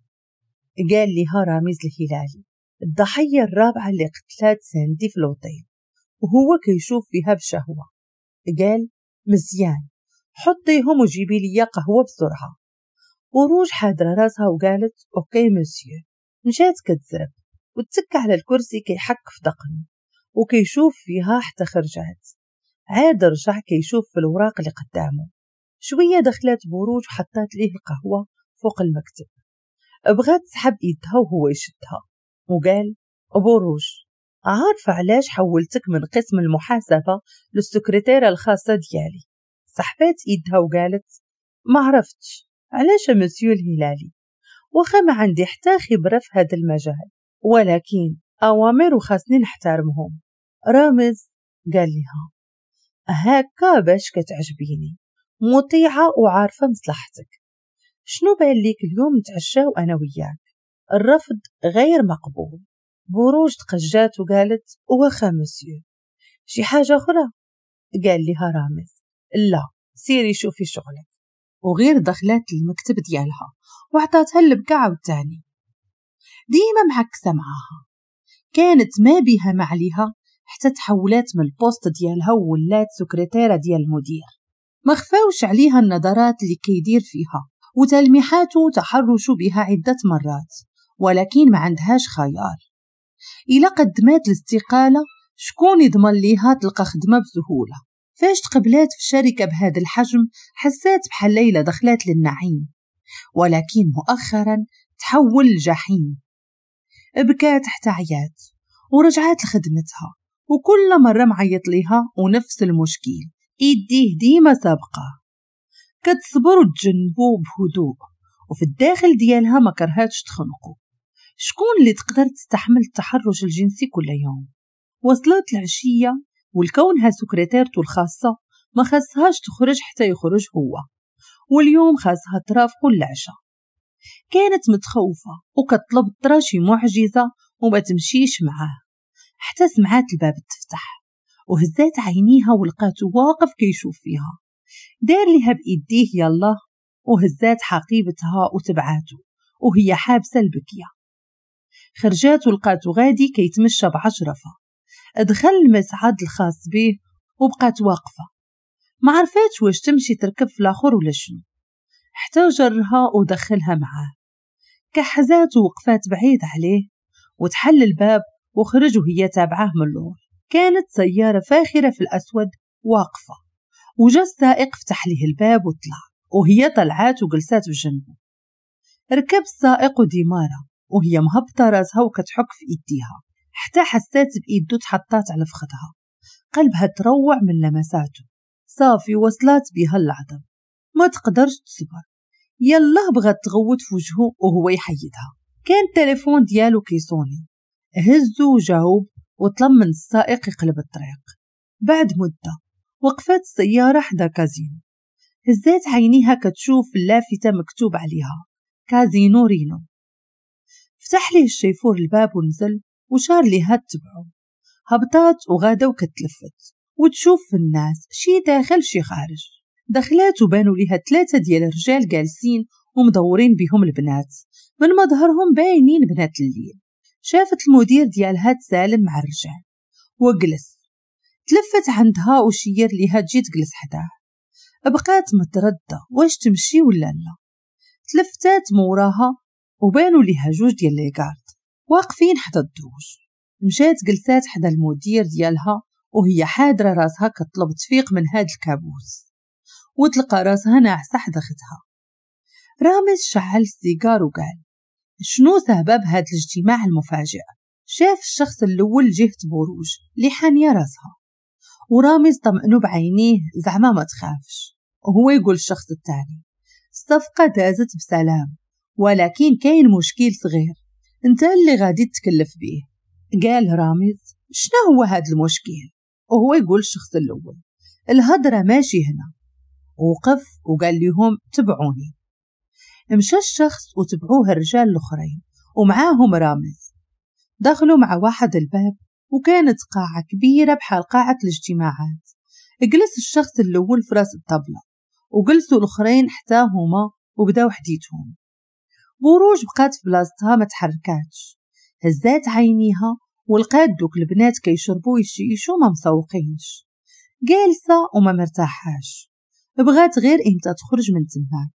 قال لها رامز الهلالي الضحية الرابعة اللي قتلات ساندي في الأوتيل، وهو كيشوف فيها بشهوة. قال مزيان حطيهم وجيبي لي قهوة بسرعة. بروج حادرة راسها وقالت OK monsieur. مشات كتزرب وتك على الكرسي كيحك في دقنه وكيشوف فيها حتى خرجات. عاد رجع كيشوف في الوراق اللي قدامه. شوية دخلت بروج وحطات ليه القهوة فوق المكتب. بغات تسحب ايدها وهو يشدها وقال بروج عارفة علاش حولتك من قسم المحاسبة للسكرتيرة الخاصة ديالي؟ سحبات ايدها وقالت ما عرفتش علاش مسيو الهلالي، واخا ما عندي حتى خبرة في هذا المجال، ولكن أوامر وخاصني نحترمهم. رامز قال لها هكا باش كتعجبيني، مطيعة وعارفة مصلحتك. شنو بان ليك اليوم نتعشاو أنا وياك؟ الرفض غير مقبول. بروج تقجات وقالت واخا مسيو. شي حاجة أخرى؟ قال لها رامز لا سيري شوفي شغلك. وغير دخلت المكتب ديالها وعطاتها البكا عاوتاني. ديما معكسة معاها، كانت ما بيها ما عليها حتى تحولات من ال poste ديالها وولات سكرتيرة ديال المدير. ما خفاوش عليها النظرات اللي كيدير فيها وتلميحاته تحرشوا بها عدة مرات، ولكن ما عندهاش خيار. إلا قدمات الاستقالة شكون يضمن ليها تلقى خدمة بسهولة؟ فاش تقبلات في شركة بهذا الحجم حسات بحال ليلى دخلات للنعيم، ولكن مؤخرا تحول لجحيم. بكات حتى عيات ورجعت لخدمتها، وكل مرة معيط ليها ونفس المشكل، ايديه ديما سابقة. كتصبر وتجنبو بهدوء، وفي الداخل ديالها ما كرهاتش تخنقو. شكون اللي تقدر تستحمل التحرش الجنسي كل يوم؟ وصلت العشية والكونها سكرتيرته الخاصة ما خاصهاش تخرج حتى يخرج هو، واليوم خاصها ترافقو العشاء. كانت متخوفة وكطلب ترى شي معجزة وما تمشيش معاه، حتى سمعات الباب تفتح وهزات عينيها ولقاته واقف كيشوف فيها. دار لها بإيديه يلا، وهزات حقيبتها وتبعاته وهي حابسة البكية. خرجات ولقاته غادي كيتمشى بعجرفة. دخل المصعد الخاص به وبقات واقفة، ما عرفاتش واش تمشي تركب في الآخر ولا شنو، حتى جرها ودخلها معاه. كحزات ووقفات بعيد عليه وتحل الباب وخرج وهي تابعاه من اللور. كانت سيارة فاخرة في الأسود واقفة، وجا السائق فتح ليه الباب وطلع، وهي طلعات وجلسات بجنبه. ركب السائق وديمارة وهي مهبطة راسها وكتحك في ايديها، حتى حسات بايدو تحطات على فخدها. قلبها تروع من لمساته. صافي وصلات بها العظم، ما تقدرش تصبر. يلا بغات تغوت في وجهه وهو يحيدها. كان التليفون ديالو كيصوني، هزو وجاوب وطلب من السائق يقلب الطريق. بعد مدة وقفات السيارة حدا كازينو. هزات عينيها كتشوف اللافتة مكتوب عليها كازينو رينو. فتح ليه الشيفور الباب ونزل وشار ليها تتبعو. هبطات وغادا وكتلفت وتشوف في الناس، شي داخل شي خارج. دخلات وبانوا ليها 3 ديال الرجال جالسين ومدورين بهم البنات، من مظهرهم باينين بنات الليل. شافت المدير ديالها تسالم مع الرجال وجلس. تلفت عندها وشير ليها تجي تجلس حداه. بقات متردة واش تمشي ولا لا. تلفتات موراها وبانوا ليها 2 ديال les gardes واقفين حدا الدروج. مشات جلسات حدا المدير ديالها وهي حادره راسها كطلب تفيق من هاد الكابوس، وتلقى راسها ناعسه حدا ختها. رامز شعل السيجار وقال شنو سبب هاد الاجتماع المفاجئ؟ شاف الشخص الاول جهة بروج اللي حانيه راسها، ورامز طمئنو بعينيه زعما ما تخافش. وهو يقول الشخص الثاني الصفقة دازت بسلام، ولكن كاين مشكل صغير انت اللي غادي تتكلف به. قال رامز شنو هو هاد المشكل؟ وهو يقول الشخص الاول الهضرة ماشي هنا. وقف وقال لهم تبعوني. مشى الشخص وتبعوه الرجال الاخرين ومعاهم رامز. دخلوا مع واحد الباب وكانت قاعة كبيرة بحال قاعة الاجتماعات. جلس الشخص الأول في راس الطبلة وجلسوا الأخرين حتى هما وبداو حديثهم. بروج بقات في بلاصتها ما تحركاتش. هزات عينيها ولقات دوك البنات كيشربوا ويشيشوا ما مسوقينش. جالسة وما مرتاحاش، بغات غير امتى تخرج من تماك.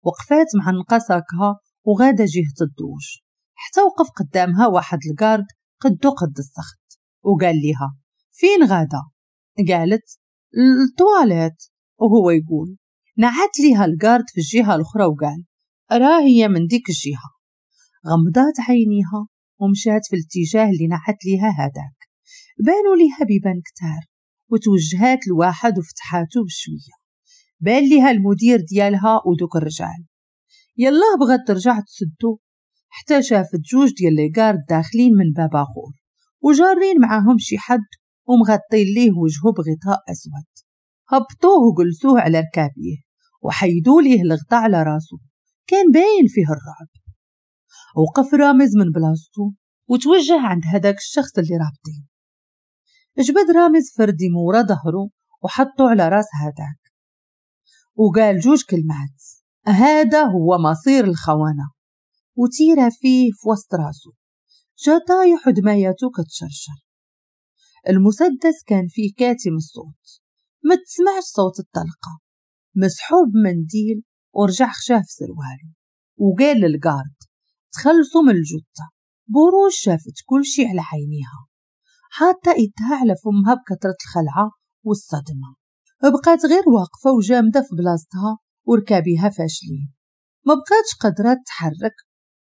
وقفات معنقة ساكها وغادا جهة الدوش، حتى وقف قدامها واحد ال garde قدو قد السخط وقال لها فين غادا؟ قالت التواليت. وهو يقول نعت ليها ال garde في الجهة الأخرى وقال راه هي من ديك الجهة. غمضات عينيها ومشات في الاتجاه اللي نعت ليها هذاك. بانوا ليها بيبان كتار وتوجهات لواحد وفتحاتو بشوية. بان ليها المدير ديالها ودوك الرجال. يلا بغات ترجع تسدو حتى شافت 2 ديال les gardes داخلين من باب اخر وجارين معاهم شي حد ومغطين ليه وجهه بغطاء اسود. هبطوه وجلسوه على ركابيه وحيدوا ليه الغطاء على راسه، كان باين فيه الرعب. وقف رامز من بلاصتو وتوجه عند هذاك الشخص اللي رابطين. جبد رامز فردي مورا ظهره وحطه على راس هذاك وقال 2 كلمات، هذا هو مصير الخونة، وتيرة فيه في وسط راسه. جا طايح ودماياتو كتشرشر. المسدس كان فيه كاتم الصوت، ما تسمعش صوت الطلقة. مسحوب منديل ورجع خشاه في سرواله وقال لل garde تخلصوا من الجثة. بروج شافت كل شي على عينيها، حاطة ايدها على فمها بكثرة الخلعة والصدمة. بقات غير واقفة وجامدة في بلاصتها وركابيها فاشلين، ما بقاتش قادرة تتحرك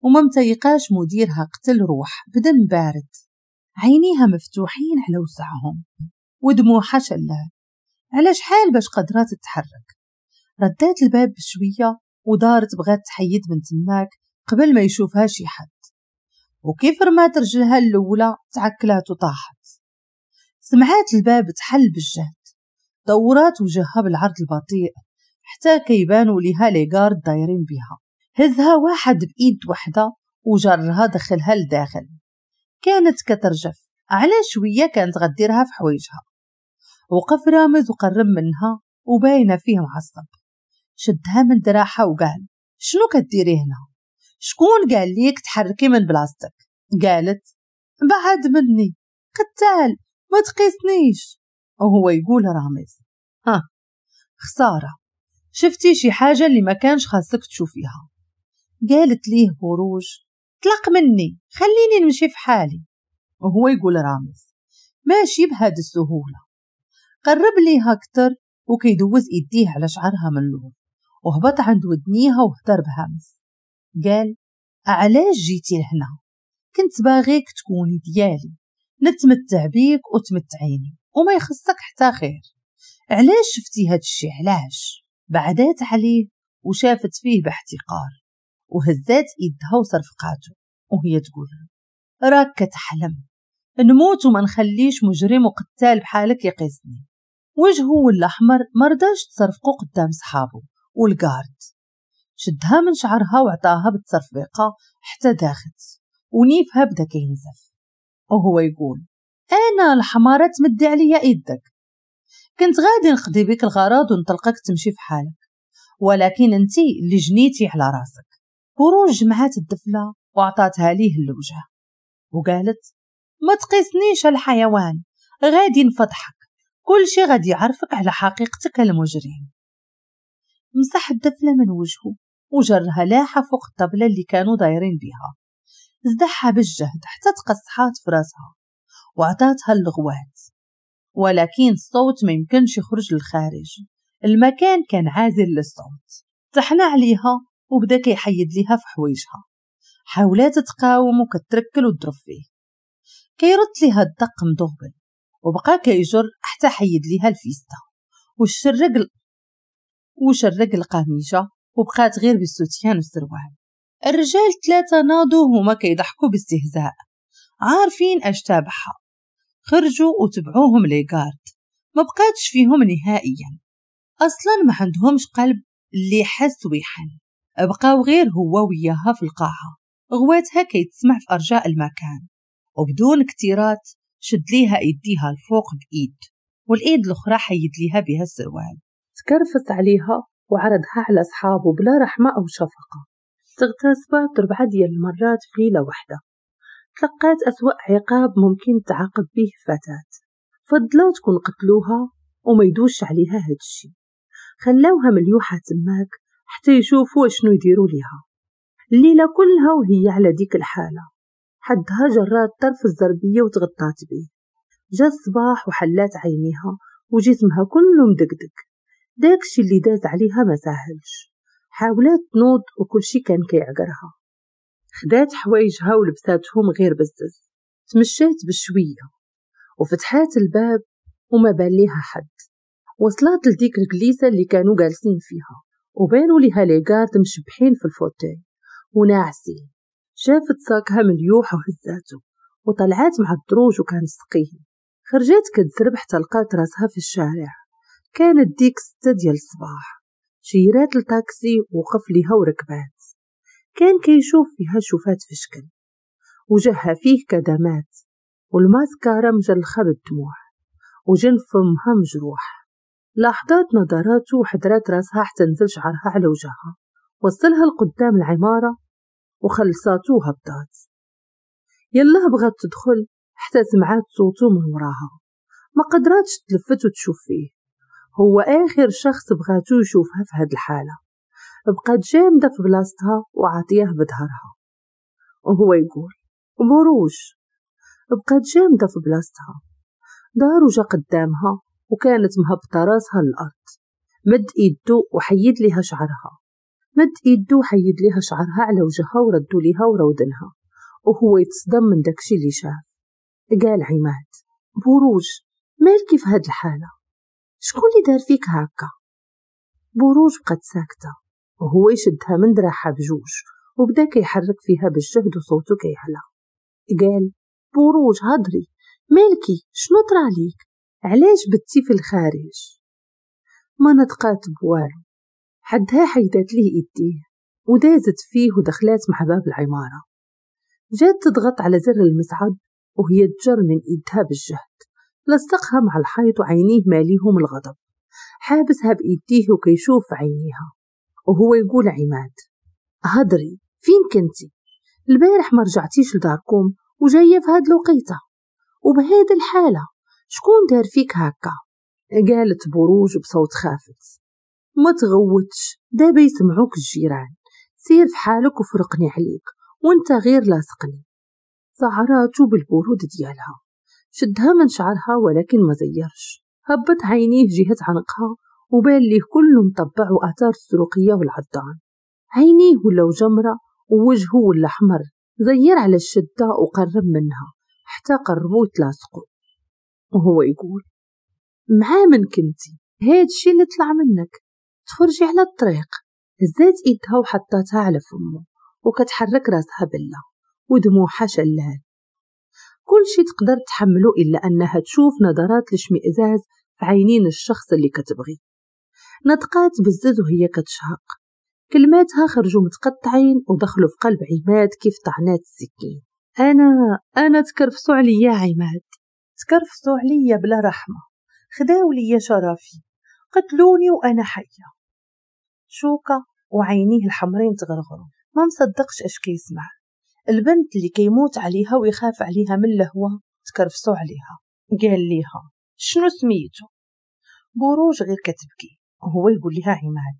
وما متيقاش مديرها قتل روح بدم بارد. عينيها مفتوحين على وسعهم ودموعها شلال. على شحال باش قدرات تتحرك؟ ردات الباب بشوية ودارت بغات تحيد من تماك قبل ما يشوفها شي حد، وكيف رمات رجلها الاولى تعكلات وطاحت. سمعات الباب تحل بالجهد، دورات وجهها بالعرض البطيء حتى كيبانوا ليها les gardes دايرين بها. هزها واحد بايد وحده وجرها دخلها لداخل. كانت كترجف، على شوية كانت غديرها في حوايجها. وقف رامز وقرب منها وباينه فيه معصب. شدها من دراعها وقال شنو كديري هنا؟ شكون قال ليك تحركي من بلاصتك؟ قالت بعد مني قتال، ما تقيسنيش. وهو يقول رامز ها خسارة، شفتي شي حاجة اللي ما كانش خاصك تشوفيها. قالت ليه بروج طلق مني، خليني نمشي في حالي. وهو يقول رامز ماشي بهاد السهولة. قرب ليها أكتر وكيدوز إيديه على شعرها من اللور، وهبط عند ودنيها وهدر بهمس قال علاش جيتي لهنا؟ كنت باغيك تكوني ديالي، نتمتع بيك وتمتعيني وما يخصك حتى خير. علاش شفتي هاد الشي؟ علاش؟ بعدات عليه وشافت فيه باحتقار وهزات ايدها وصرفقاته وهي تقول راك كتحلم، نموت وما نخليش مجرم وقتال بحالك يقيسني. وجهه ولا احمر، مرضاش تصرفقو قدام صحابه والكارد. شدها من شعرها وعطاها بالتصرفيقه حتى داخت ونيفها بدا كينزف. وهو يقول انا الحماره تمدي عليا ايدك، كنت غادي نقضي بك الغرض ونطلقك تمشي في حالك، ولكن انتي اللي جنيتي على راسك. بروج جمعات الدفله وعطاتها ليه الوجه وقالت ما تقيسنيش الحيوان، غادي نفضحك، كل شي غادي يعرفك على حقيقتك المجرم. مسح الدفله من وجهه وجرها لاحه فوق الطبلة اللي كانوا دايرين بها، زدحها بالجهد حتى تقصحات في راسها وعطاتها اللغوات، ولكن الصوت ما يمكنش يخرج للخارج، المكان كان عازل للصوت. تحنى عليها وبدا كيحيد ليها في حوايجها، حاولات تقاوم وكتركل وتضرب فيه، كيرد ليها الدق مدغبل وبقى كيجر حتى حيد ليها الفيستا وشرق القميجه وبقات غير بالسوتيان والسروال. الرجال ثلاثة ناضوا هما كيضحكوا باستهزاء، عارفين اش تابعها. خرجوا وتبعوهم les gardes، ما بقاتش فيهم نهائيا، اصلا ما عندهمش قلب اللي حس ويحن. بقاو غير هو وياها في القاعة، غواتها كيتسمع في ارجاء المكان، وبدون اكتراث شد ليها ايديها الفوق بايد والايد الاخرى حيد ليها بها السروال. تكرفس عليها وعرضها على اصحابه بلا رحمه او شفقة. تغتصبت 4 ديال المرات في ليلة واحدة، تلقات أسوأ عقاب ممكن تعاقب به فتاة. فضلوا تكون قتلوها وما يدوش عليها هادشي، خلاوها مليوحة تماك حتى يشوفوا شنو يديروا ليها. الليلة كلها وهي على ديك الحالة، حدها جرات طرف الزربية وتغطات به. جا الصباح وحلات عينيها وجسمها كله مدقدق، داكشي اللي داز عليها ما ساهلش. حاولات تنوض وكل شي كان كيعقرها. خدات حوايجها ولبساتهم غير بزز، تمشات بشوية وفتحات الباب وما بان ليها حد. وصلت لديك الجليسه اللي كانوا جالسين فيها وبانوا ليها les gardes مشبحين في ال fauteuil وناعسين. شافت صاكها مليوح وهزاتو وطلعات مع الدروج وكان ثقيل. خرجت كتزرب حتى لقات راسها في الشارع. كانت ديك 6 ديال الصباح. شيرات التاكسي وقف ليها وركبات. كان كيشوف فيها شوفات في شكل، وجهها فيه كدمات والماسكارا مجلخة بالدموع وجن فمها مجروح. لاحظات نظراته وحدرات راسها حتى نزل شعرها على وجهها. وصلها لقدام العمارة وخلصاتو وهبطات. يلا بغات تدخل حتى سمعات صوته من وراها، ما قدراتش تلفت وتشوف فيه. هو آخر شخص بغاتو يشوفها في هاد الحالة. بقات جامدة في بلاصتها وعطية بظهرها وهو يقول بروج. بقات جامدة في بلاصتها. دار وجا قدامها وكانت مهبطة راسها للأرض. مد ايدو وحيد ليها شعرها، مد ايدو وحيد ليها شعرها على وجهها وردو ليها ورودنها، وهو يتصدم من داكشي اللي شاف. قال عماد بروج مالكي في هاد الحالة؟ شكون اللي دار فيك هكا؟ بروج بقت ساكتة وهو يشدها من دراعها بجوج وبدا كيحرك فيها بالجهد وصوته كيعلى. قال بروج هضري، مالكي، شنو طراليك، علاش بتي في الخارج؟ ما نطقات بوالو، حدها حيدات ليه ايديه ودازت فيه ودخلات مع باب العمارة. جات تضغط على زر المصعد وهي تجر من ايدها بالجهد، لصقها مع الحيط وعينيه ماليهم الغضب، حابسها بايديه وكيشوف عينيها وهو يقول عماد هضري، فين كنتي البارح؟ ما رجعتيش لداركم وجاية في هاد الوقيته وبهاد الحالة، شكون دار فيك هكا؟ قالت بروج بصوت خافت ما تغوتش، دابا يسمعوك الجيران، سير في حالك وفرقني عليك وانت غير لاصقني. سعراتو بالبرود ديالها، شدها من شعرها ولكن ما زيرش، هبط عينيه جهة عنقها وبان ليه كله مطبع وآثار السروقية والعضان، عينيه ولاو جمرة ووجهه ولا حمر. زير على الشدة وقرب منها حتى قربوا يتلاصقوا وهو يقول مع من كنتي؟ هاد الشي اللي طلع منك، تخرجي على الطريق. هزات ايدها وحطاتها على فمه وكتحرك راسها بلا ودموعها شلال. كل شي تقدر تحمله إلا أنها تشوف نظرات الاشمئزاز في عينين الشخص اللي كتبغي. نطقات بزز وهي كتشهق، كلماتها خرجوا متقطعين ودخلوا في قلب عماد كيف طعنات السكين. أنا تكرفسوا عليا عماد، تكرفسوا عليا بلا رحمة، خداو ليا شرفي، قتلوني وأنا حية. شوكة وعينيه الحمرين تغرغروا، ما مصدقش اش كيسمع. البنت اللي كيموت عليها ويخاف عليها من الهوى تكرفسوا عليها. قال ليها شنو سميتو؟ بروج غير كتبكي وهو يقول لها عماد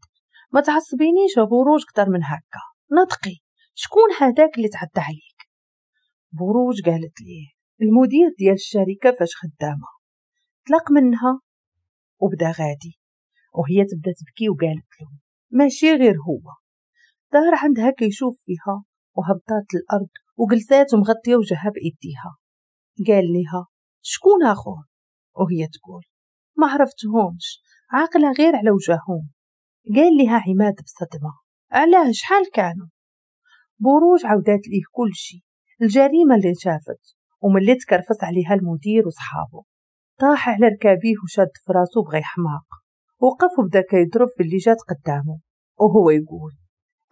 ما تعصبينيش يا بروج كتر من هكا، نطقي شكون هذاك اللي تعدى عليك؟ بروج قالت ليه المدير ديال الشركة فاش خدامة. طلق منها وبدا غادي وهي تبدا تبكي وقالت له ماشي غير هو. دار عندها كيشوف فيها وهبطات الأرض وجلسات ومغطية وجهها بإيديها. قال لها شكون آخر؟ وهي تقول ما عرفتهمش، عاقلة غير على وجههم. قال لها عماد بصدمة علاه شحال كانوا؟ بروج عودات ليه كل شي، الجريمة اللي شافت وملي تكرفس عليها المدير وصحابه. طاح على ركابيه وشاد في راسو بغى يحماق، وقف وبدا كيضرب في اللي جات قدامه وهو يقول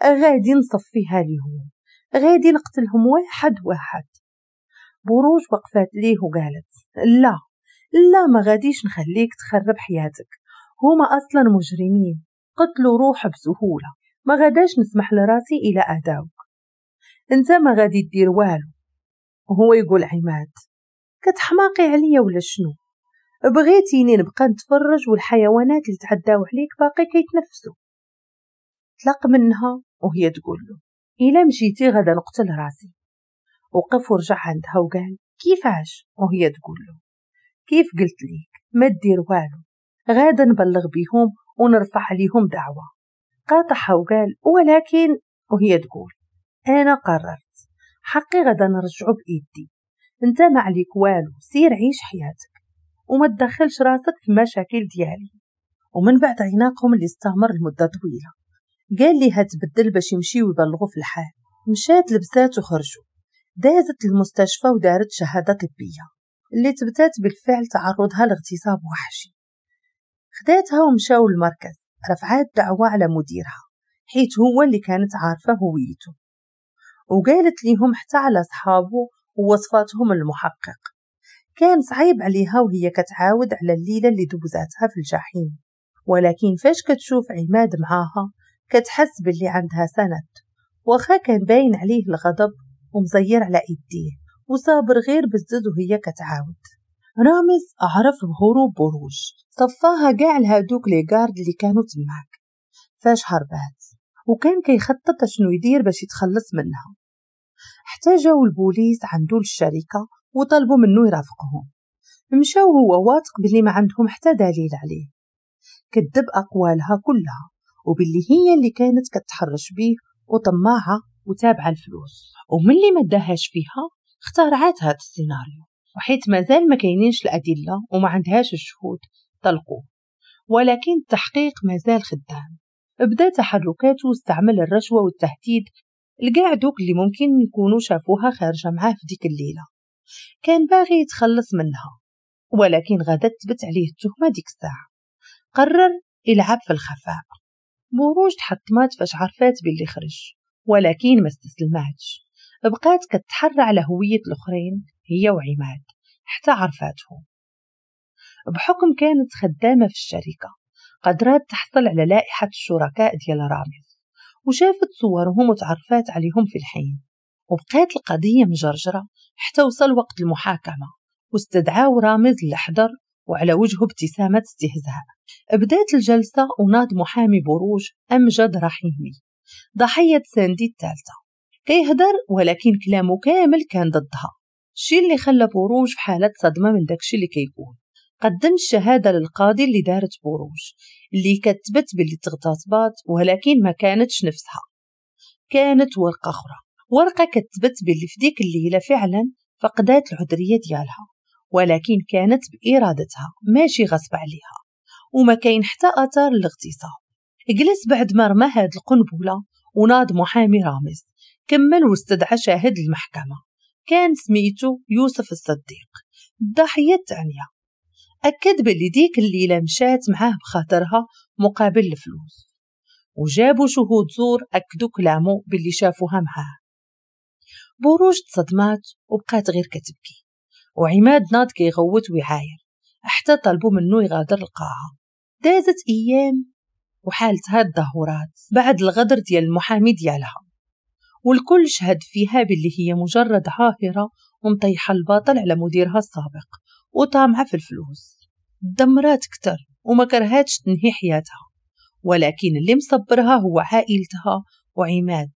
غادي نصفيها ليهم، غادي نقتلهم واحد واحد. بروج وقفات ليه وقالت لا لا ما غاديش نخليك تخرب حياتك، هما أصلا مجرمين، قتلوا روح بسهولة، ما غاداش نسمح لراسي إلى أداوك، انت ما غادي دير والو. وهو يقول عماد كتحماقي عليا ولا شنو؟ بغيتيني نبقى نتفرج والحيوانات اللي تعداو عليك باقي كيتنفسوا؟ طلق منها وهي تقول له إلا مشيتي غدا نقتل راسي. وقف ورجع عندها وقال كيفاش؟ وهي تقول له كيف قلت ليك ما دير والو، غادا نبلغ بيهم ونرفع عليهم دعوة. قاطعها وقال ولكن، وهي تقول أنا قررت حقي غدا نرجعه بإيدي، انت ما عليك والو، سير عيش حياتك وما تدخلش راسك في مشاكل ديالي. ومن بعد عناقهم اللي استمر لمدة طويلة قال ليها تبدل باش يمشيو يبلغوا في الحال. مشات لبسات وخرجوا، دازت المستشفى ودارت شهادة طبية اللي تبتات بالفعل تعرضها لاغتصاب وحشي. خداتها ومشاو للمركز، رفعات دعوة على مديرها حيت هو اللي كانت عارفة هويته، وقالت ليهم حتى على صحابه ووصفاتهم المحقق. كان صعيب عليها وهي كتعاود على الليلة اللي دوزاتها في الجحيم، ولكن فاش كتشوف عماد معاها كتحس باللي عندها سند، واخا كان باين عليه الغضب ومزير على ايديه وصابر غير بزز وهي كتعاود. رامز عرف بهروب بروج، صفاها كاع لهادوك les gardes اللي كانوا تماك فاش هربات، وكان كيخطط شنو يدير باش يتخلص منها. حتى جاو البوليس عندو للشركة وطلبوا منه يرافقهم. مشاو هو واثق باللي ما عندهم حتى دليل عليه، كذب أقوالها كلها وباللي هي اللي كانت كتحرش بيه وطماعة وتابعة الفلوس، وملي ما داهاش فيها اخترعات هذا السيناريو، وحيت مازال ما كاينينش الأدلة وما عندهاش الشهود طلقوه. ولكن التحقيق مازال خدام. بدا تحركاته واستعمل الرشوة والتهديد لكاع دوك اللي ممكن يكونوا شافوها خارجة معاه في ديك الليلة. كان باغي يتخلص منها، ولكن غدا تثبت عليه التهمة ديك الساعة. قرر يلعب في الخفاء. بروج تحطمات فاش عرفات باللي خرج، ولكن ما استسلماتش، بقات كتحرى على هوية الأخرين هي وعماد حتى عرفاتهم. بحكم كانت خدامة في الشركة قدرات تحصل على لائحة الشركاء ديال رامز، وشافت صورهم وتعرفات عليهم في الحين. وبقات القضية مجرجرة حتى وصل وقت المحاكمة، واستدعاو رامز اللي حضر وعلى وجهه ابتسامة استهزاء. بدات الجلسة وناض محامي بروج أمجد رحيمي ضحية ساندي الثالثة كيهدر، ولكن كلامه كامل كان ضدها، الشيء اللي خلى بروج في حالة صدمة من داكشي اللي كيقول. قدم الشهادة للقاضي اللي دارت بروج اللي كتبت باللي تغتصبات، ولكن ما كانتش نفسها، كانت ورقة أخرى، ورقة كتبت باللي في ديك الليلة فعلا فقدات العذرية ديالها، ولكن كانت بإرادتها ماشي غصب عليها، وما كاين حتى آثار للاغتصاب. جلس بعد ما رمى هاد القنبلة وناض محامي رامز كمل واستدعى شاهد المحكمة، كان سميتو يوسف الصديق الضحية الثانية. أكد باللي ديك الليلة مشات معاه بخاطرها مقابل الفلوس، وجابوا شهود زور أكدوا كلامه باللي شافوها معاه. بروج تصدمات وبقات غير كتبكي، وعماد ناض كيغوت ويعاير حتى طلبوا منه يغادر القاعة. دازت أيام وحالتها تدهورات بعد الغدر ديال المحامي ديالها، والكل شهد فيها باللي هي مجرد عاهرة ومطيحة الباطل على مديرها السابق وطامعة في الفلوس. دمرات كتر وما كرهاتش تنهي حياتها، ولكن اللي مصبرها هو عائلتها وعماد،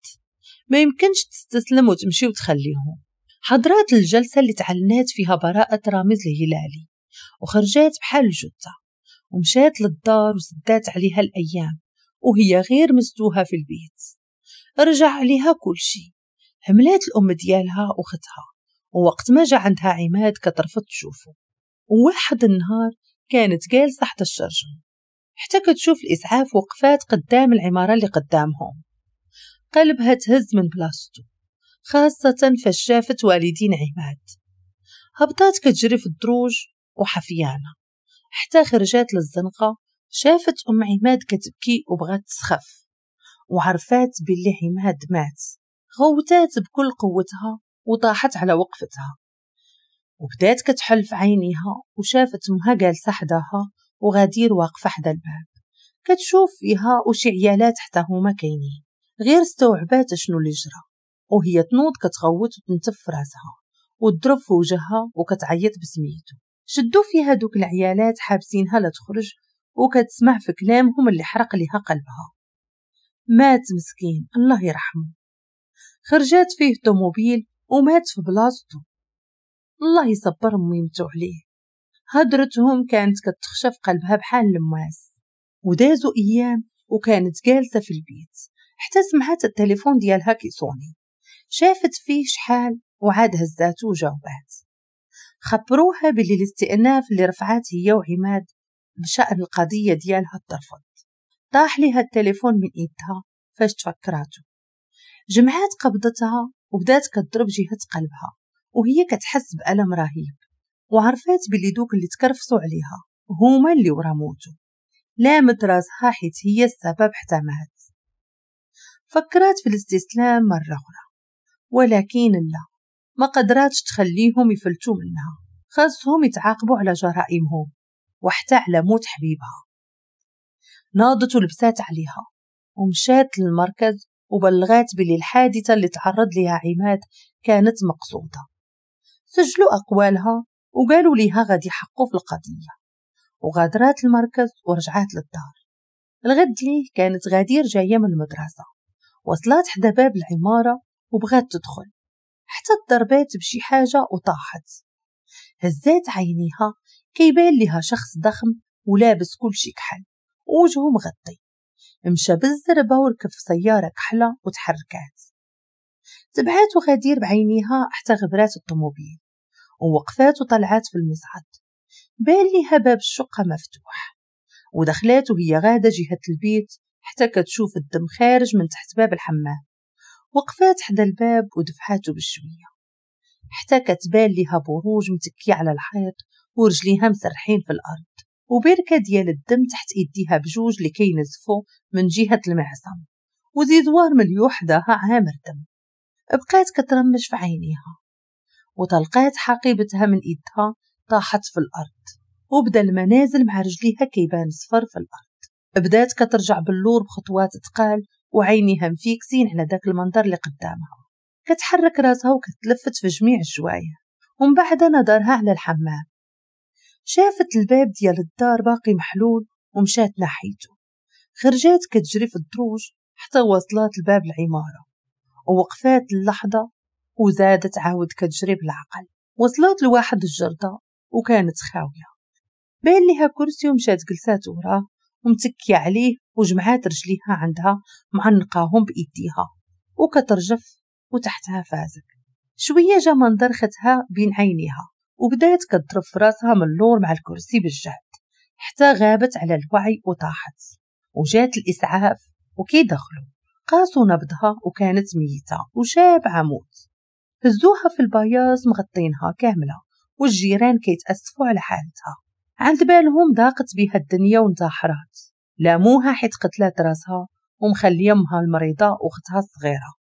ما يمكنش تستسلم وتمشي وتخليهم. حضرات الجلسة اللي تعلنات فيها براءة رامز الهلالي، وخرجات بحال الجثة ومشات للدار وسدات عليها الأيام وهي غير مستوها في البيت. رجع عليها كل شيء، هملات الأم ديالها وختها، ووقت ما جا عندها عماد كترفض تشوفه. وواحد النهار كانت جالسة حتى الشرجم حتى كتشوف الإسعاف وقفات قدام العمارة اللي قدامهم. قلبها تهز من بلاصتو، خاصة فاش شافت والدين عماد. هبطات كتجري في الدروج وحفيانة حتى خرجات للزنقة، شافت أم عماد كتبكي وبغات تسخف، وعرفات باللي عماد مات. غوتات بكل قوتها وطاحت على وقفتها، وبدات كتحل في عينيها وشافت امها جالسة حداها وغدير واقفة حدا الباب كتشوف فيها وشي عيالات حتى هما كاينين. غير استوعبات شنو اللي جرى وهي تنوض كتغوت وتنتف في راسها وتضرب في وجهها وكتعيط بسميتو. شدوا فيها دوك العيالات حابسينها لا تخرج، وكتسمع في كلامهم اللي حرق لها قلبها. مات مسكين الله يرحمه. خرجات فيه طوموبيل ومات في بلاصتو، الله يصبر ميمتو عليه. هدرتهم كانت كتخشى في قلبها بحال الماس. ودازوا ايام وكانت جالسة في البيت حتى سمعت التليفون ديالها كيصوني. شافت فيه شحال وعاد هزاتو وجاوبات. خبروها باللي الاستئناف اللي رفعات هي وعماد بشأن القضية ديالها ترفض. طاح ليها التليفون من ايدها فاش تفكراتو. جمعات قبضتها وبدات كتضرب جهة قلبها وهي كتحس بألم رهيب، وعرفات باللي دوك اللي تكرفصوا عليها هما اللي ورا موتو. لامت راسها حيت هي السبب حتى مات. فكرات في الاستسلام مرة أخرى، ولكن لا، ما قدراتش تخليهم يفلتوا منها. خاصهم يتعاقبوا على جرائمهم وحتى على موت حبيبها. ناضت ولبسات عليها ومشات للمركز وبلغات باللي الحادثة اللي تعرض لها عماد كانت مقصودة. سجلوا أقوالها وقالوا ليها غادي يحقوا في القضية، وغادرات المركز ورجعات للدار. الغد ليه كانت غدير جاية من المدرسة، وصلت حدا باب العمارة وبغات تدخل حتى ضربات بشي حاجة وطاحت. هزات عينيها كيبان لها شخص ضخم ولابس كل شي كحل ووجهه مغطي. مشى بالزربة وركب في سيارة كحلة وتحركات. تبعات غدير بعينيها حتى غبرات الطوموبيل ووقفات وطلعات في المصعد. بان ليها باب الشقة مفتوح. ودخلات وهي غادة جهة البيت حتى كتشوف الدم خارج من تحت باب الحمام. وقفات حدا الباب ودفعاته بشوية حتى كتبان ليها بروج متكية على الحيط ورجليها مسرحين في الأرض، وبركة ديال الدم تحت ايديها بجوج اللي كينزفوا من جهة المعصم، وزيزوار مليوح حداها عامر دم. بقات كترمش في عينيها وطلقات حقيبتها من ايدها، طاحت في الأرض وبدا المنازل مع رجليها كيبان صفر في الأرض. بدات كترجع باللور بخطوات تقال وعينيها مفيكسين على داك المنظر اللي قدامها، كتحرك راسها وكتلفت في جميع الجوايع. ومن بعد نظرها على الحمام، شافت الباب ديال الدار باقي محلول ومشات ناحيته. خرجات كتجري في الدروج حتى وصلات لباب العمارة ووقفات اللحظة وزادت عاود كتجري بالعقل. وصلت لواحد الجردة وكانت خاوية، بان ليها كرسي ومشات جلسات وراه ومتكية عليه وجمعات رجليها عندها معنقاهم بإيديها وكترجف وتحتها فازك. شوية جا منظر ختها بين عينيها وبدات كتضرب في راسها من اللور مع الكرسي بالجهد حتى غابت على الوعي وطاحت. وجات الإسعاف وكيدخلوا قاسوا نبضها وكانت ميتة وشابعة موت. هزوها في البياض مغطينها كاملة والجيران كيتأسفوا على حالتها، عند بالهم ضاقت بها الدنيا وانتحرات. لاموها حيت قتلات راسها ومخليه امها المريضة واختها الصغيرة.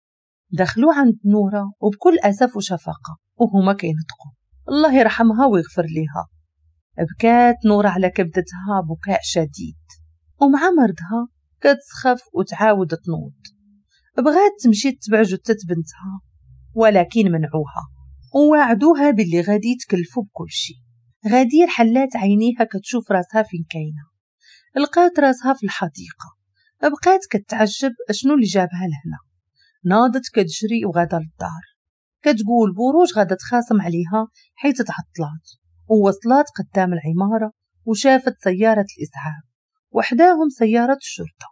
دخلوا عند نورة وبكل أسف وشفقة وهما كينطقوا الله يرحمها ويغفر ليها. بكات نورة على كبدتها بكاء شديد، ومع مرضها كتسخف وتعاود تنوض. بغات تمشي تتبع جثة بنتها ولكن منعوها ووعدوها باللي غادي يتكلفوا بكل شيء. غدير حلات عينيها كتشوف راسها فين كاينه، لقات راسها في الحديقة. بقات كتعجب شنو اللي جابها لهنا. ناضت كتجري وغادا للدار، كتقول بروج غادا تخاصم عليها حيت تعطلات. ووصلات قدام العمارة وشافت سيارة الإسعاف وحداهم سيارة الشرطة.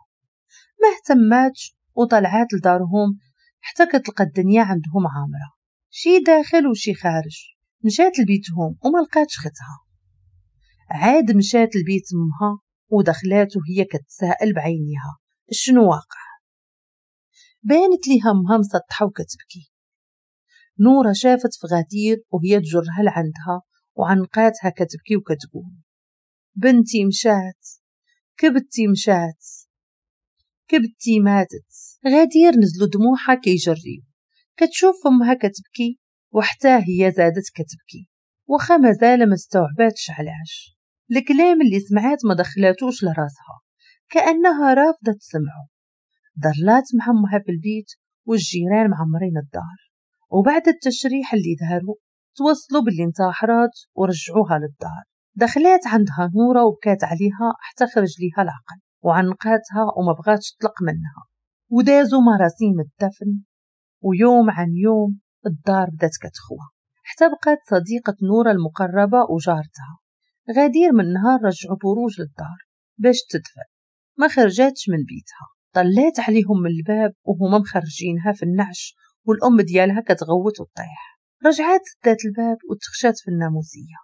ما اهتماتش وطلعات لدارهم حتى كتلقى الدنيا عندهم عامرة، شي داخل وشي خارج. مشات لبيتهم وما لقاتش ختها. عاد مشات لبيت امها ودخلات وهي كتسائل بعينيها شنو واقع. بانت ليها امها مسطحة وكتبكي. نورة شافت في غدير وهي تجرها لعندها وعنقاتها كتبكي وكتقول بنتي مشات، كبدتي مشات، كبدتي ماتت. غدير نزلوا دموعها كيجريو، كتشوف امها كتبكي وحتى هي زادت كتبكي، وخا مازال ما استوعباتش علاش الكلام اللي سمعات ما دخلاتوش لراسها، كأنها رافضة تسمعه. ضلات مع امها في البيت والجيران معمرين الدار، وبعد التشريح اللي داروا توصلوا باللي انتحرات ورجعوها للدار. دخلات عندها نورة وبكات عليها حتى خرج ليها العقل وعنقاتها وما بغاتش تطلق منها. ودازوا مراسيم الدفن، ويوم عن يوم الدار بدات كتخوى حتى بقات صديقة نورة المقربة وجارتها. غدير من نهار رجعوا بروج للدار باش تدفن، ما خرجاتش من بيتها. طلات عليهم من الباب وهما مخرجينها في النعش والأم ديالها كتغوت وتطيح. رجعات سدات الباب وتخشات في الناموسية.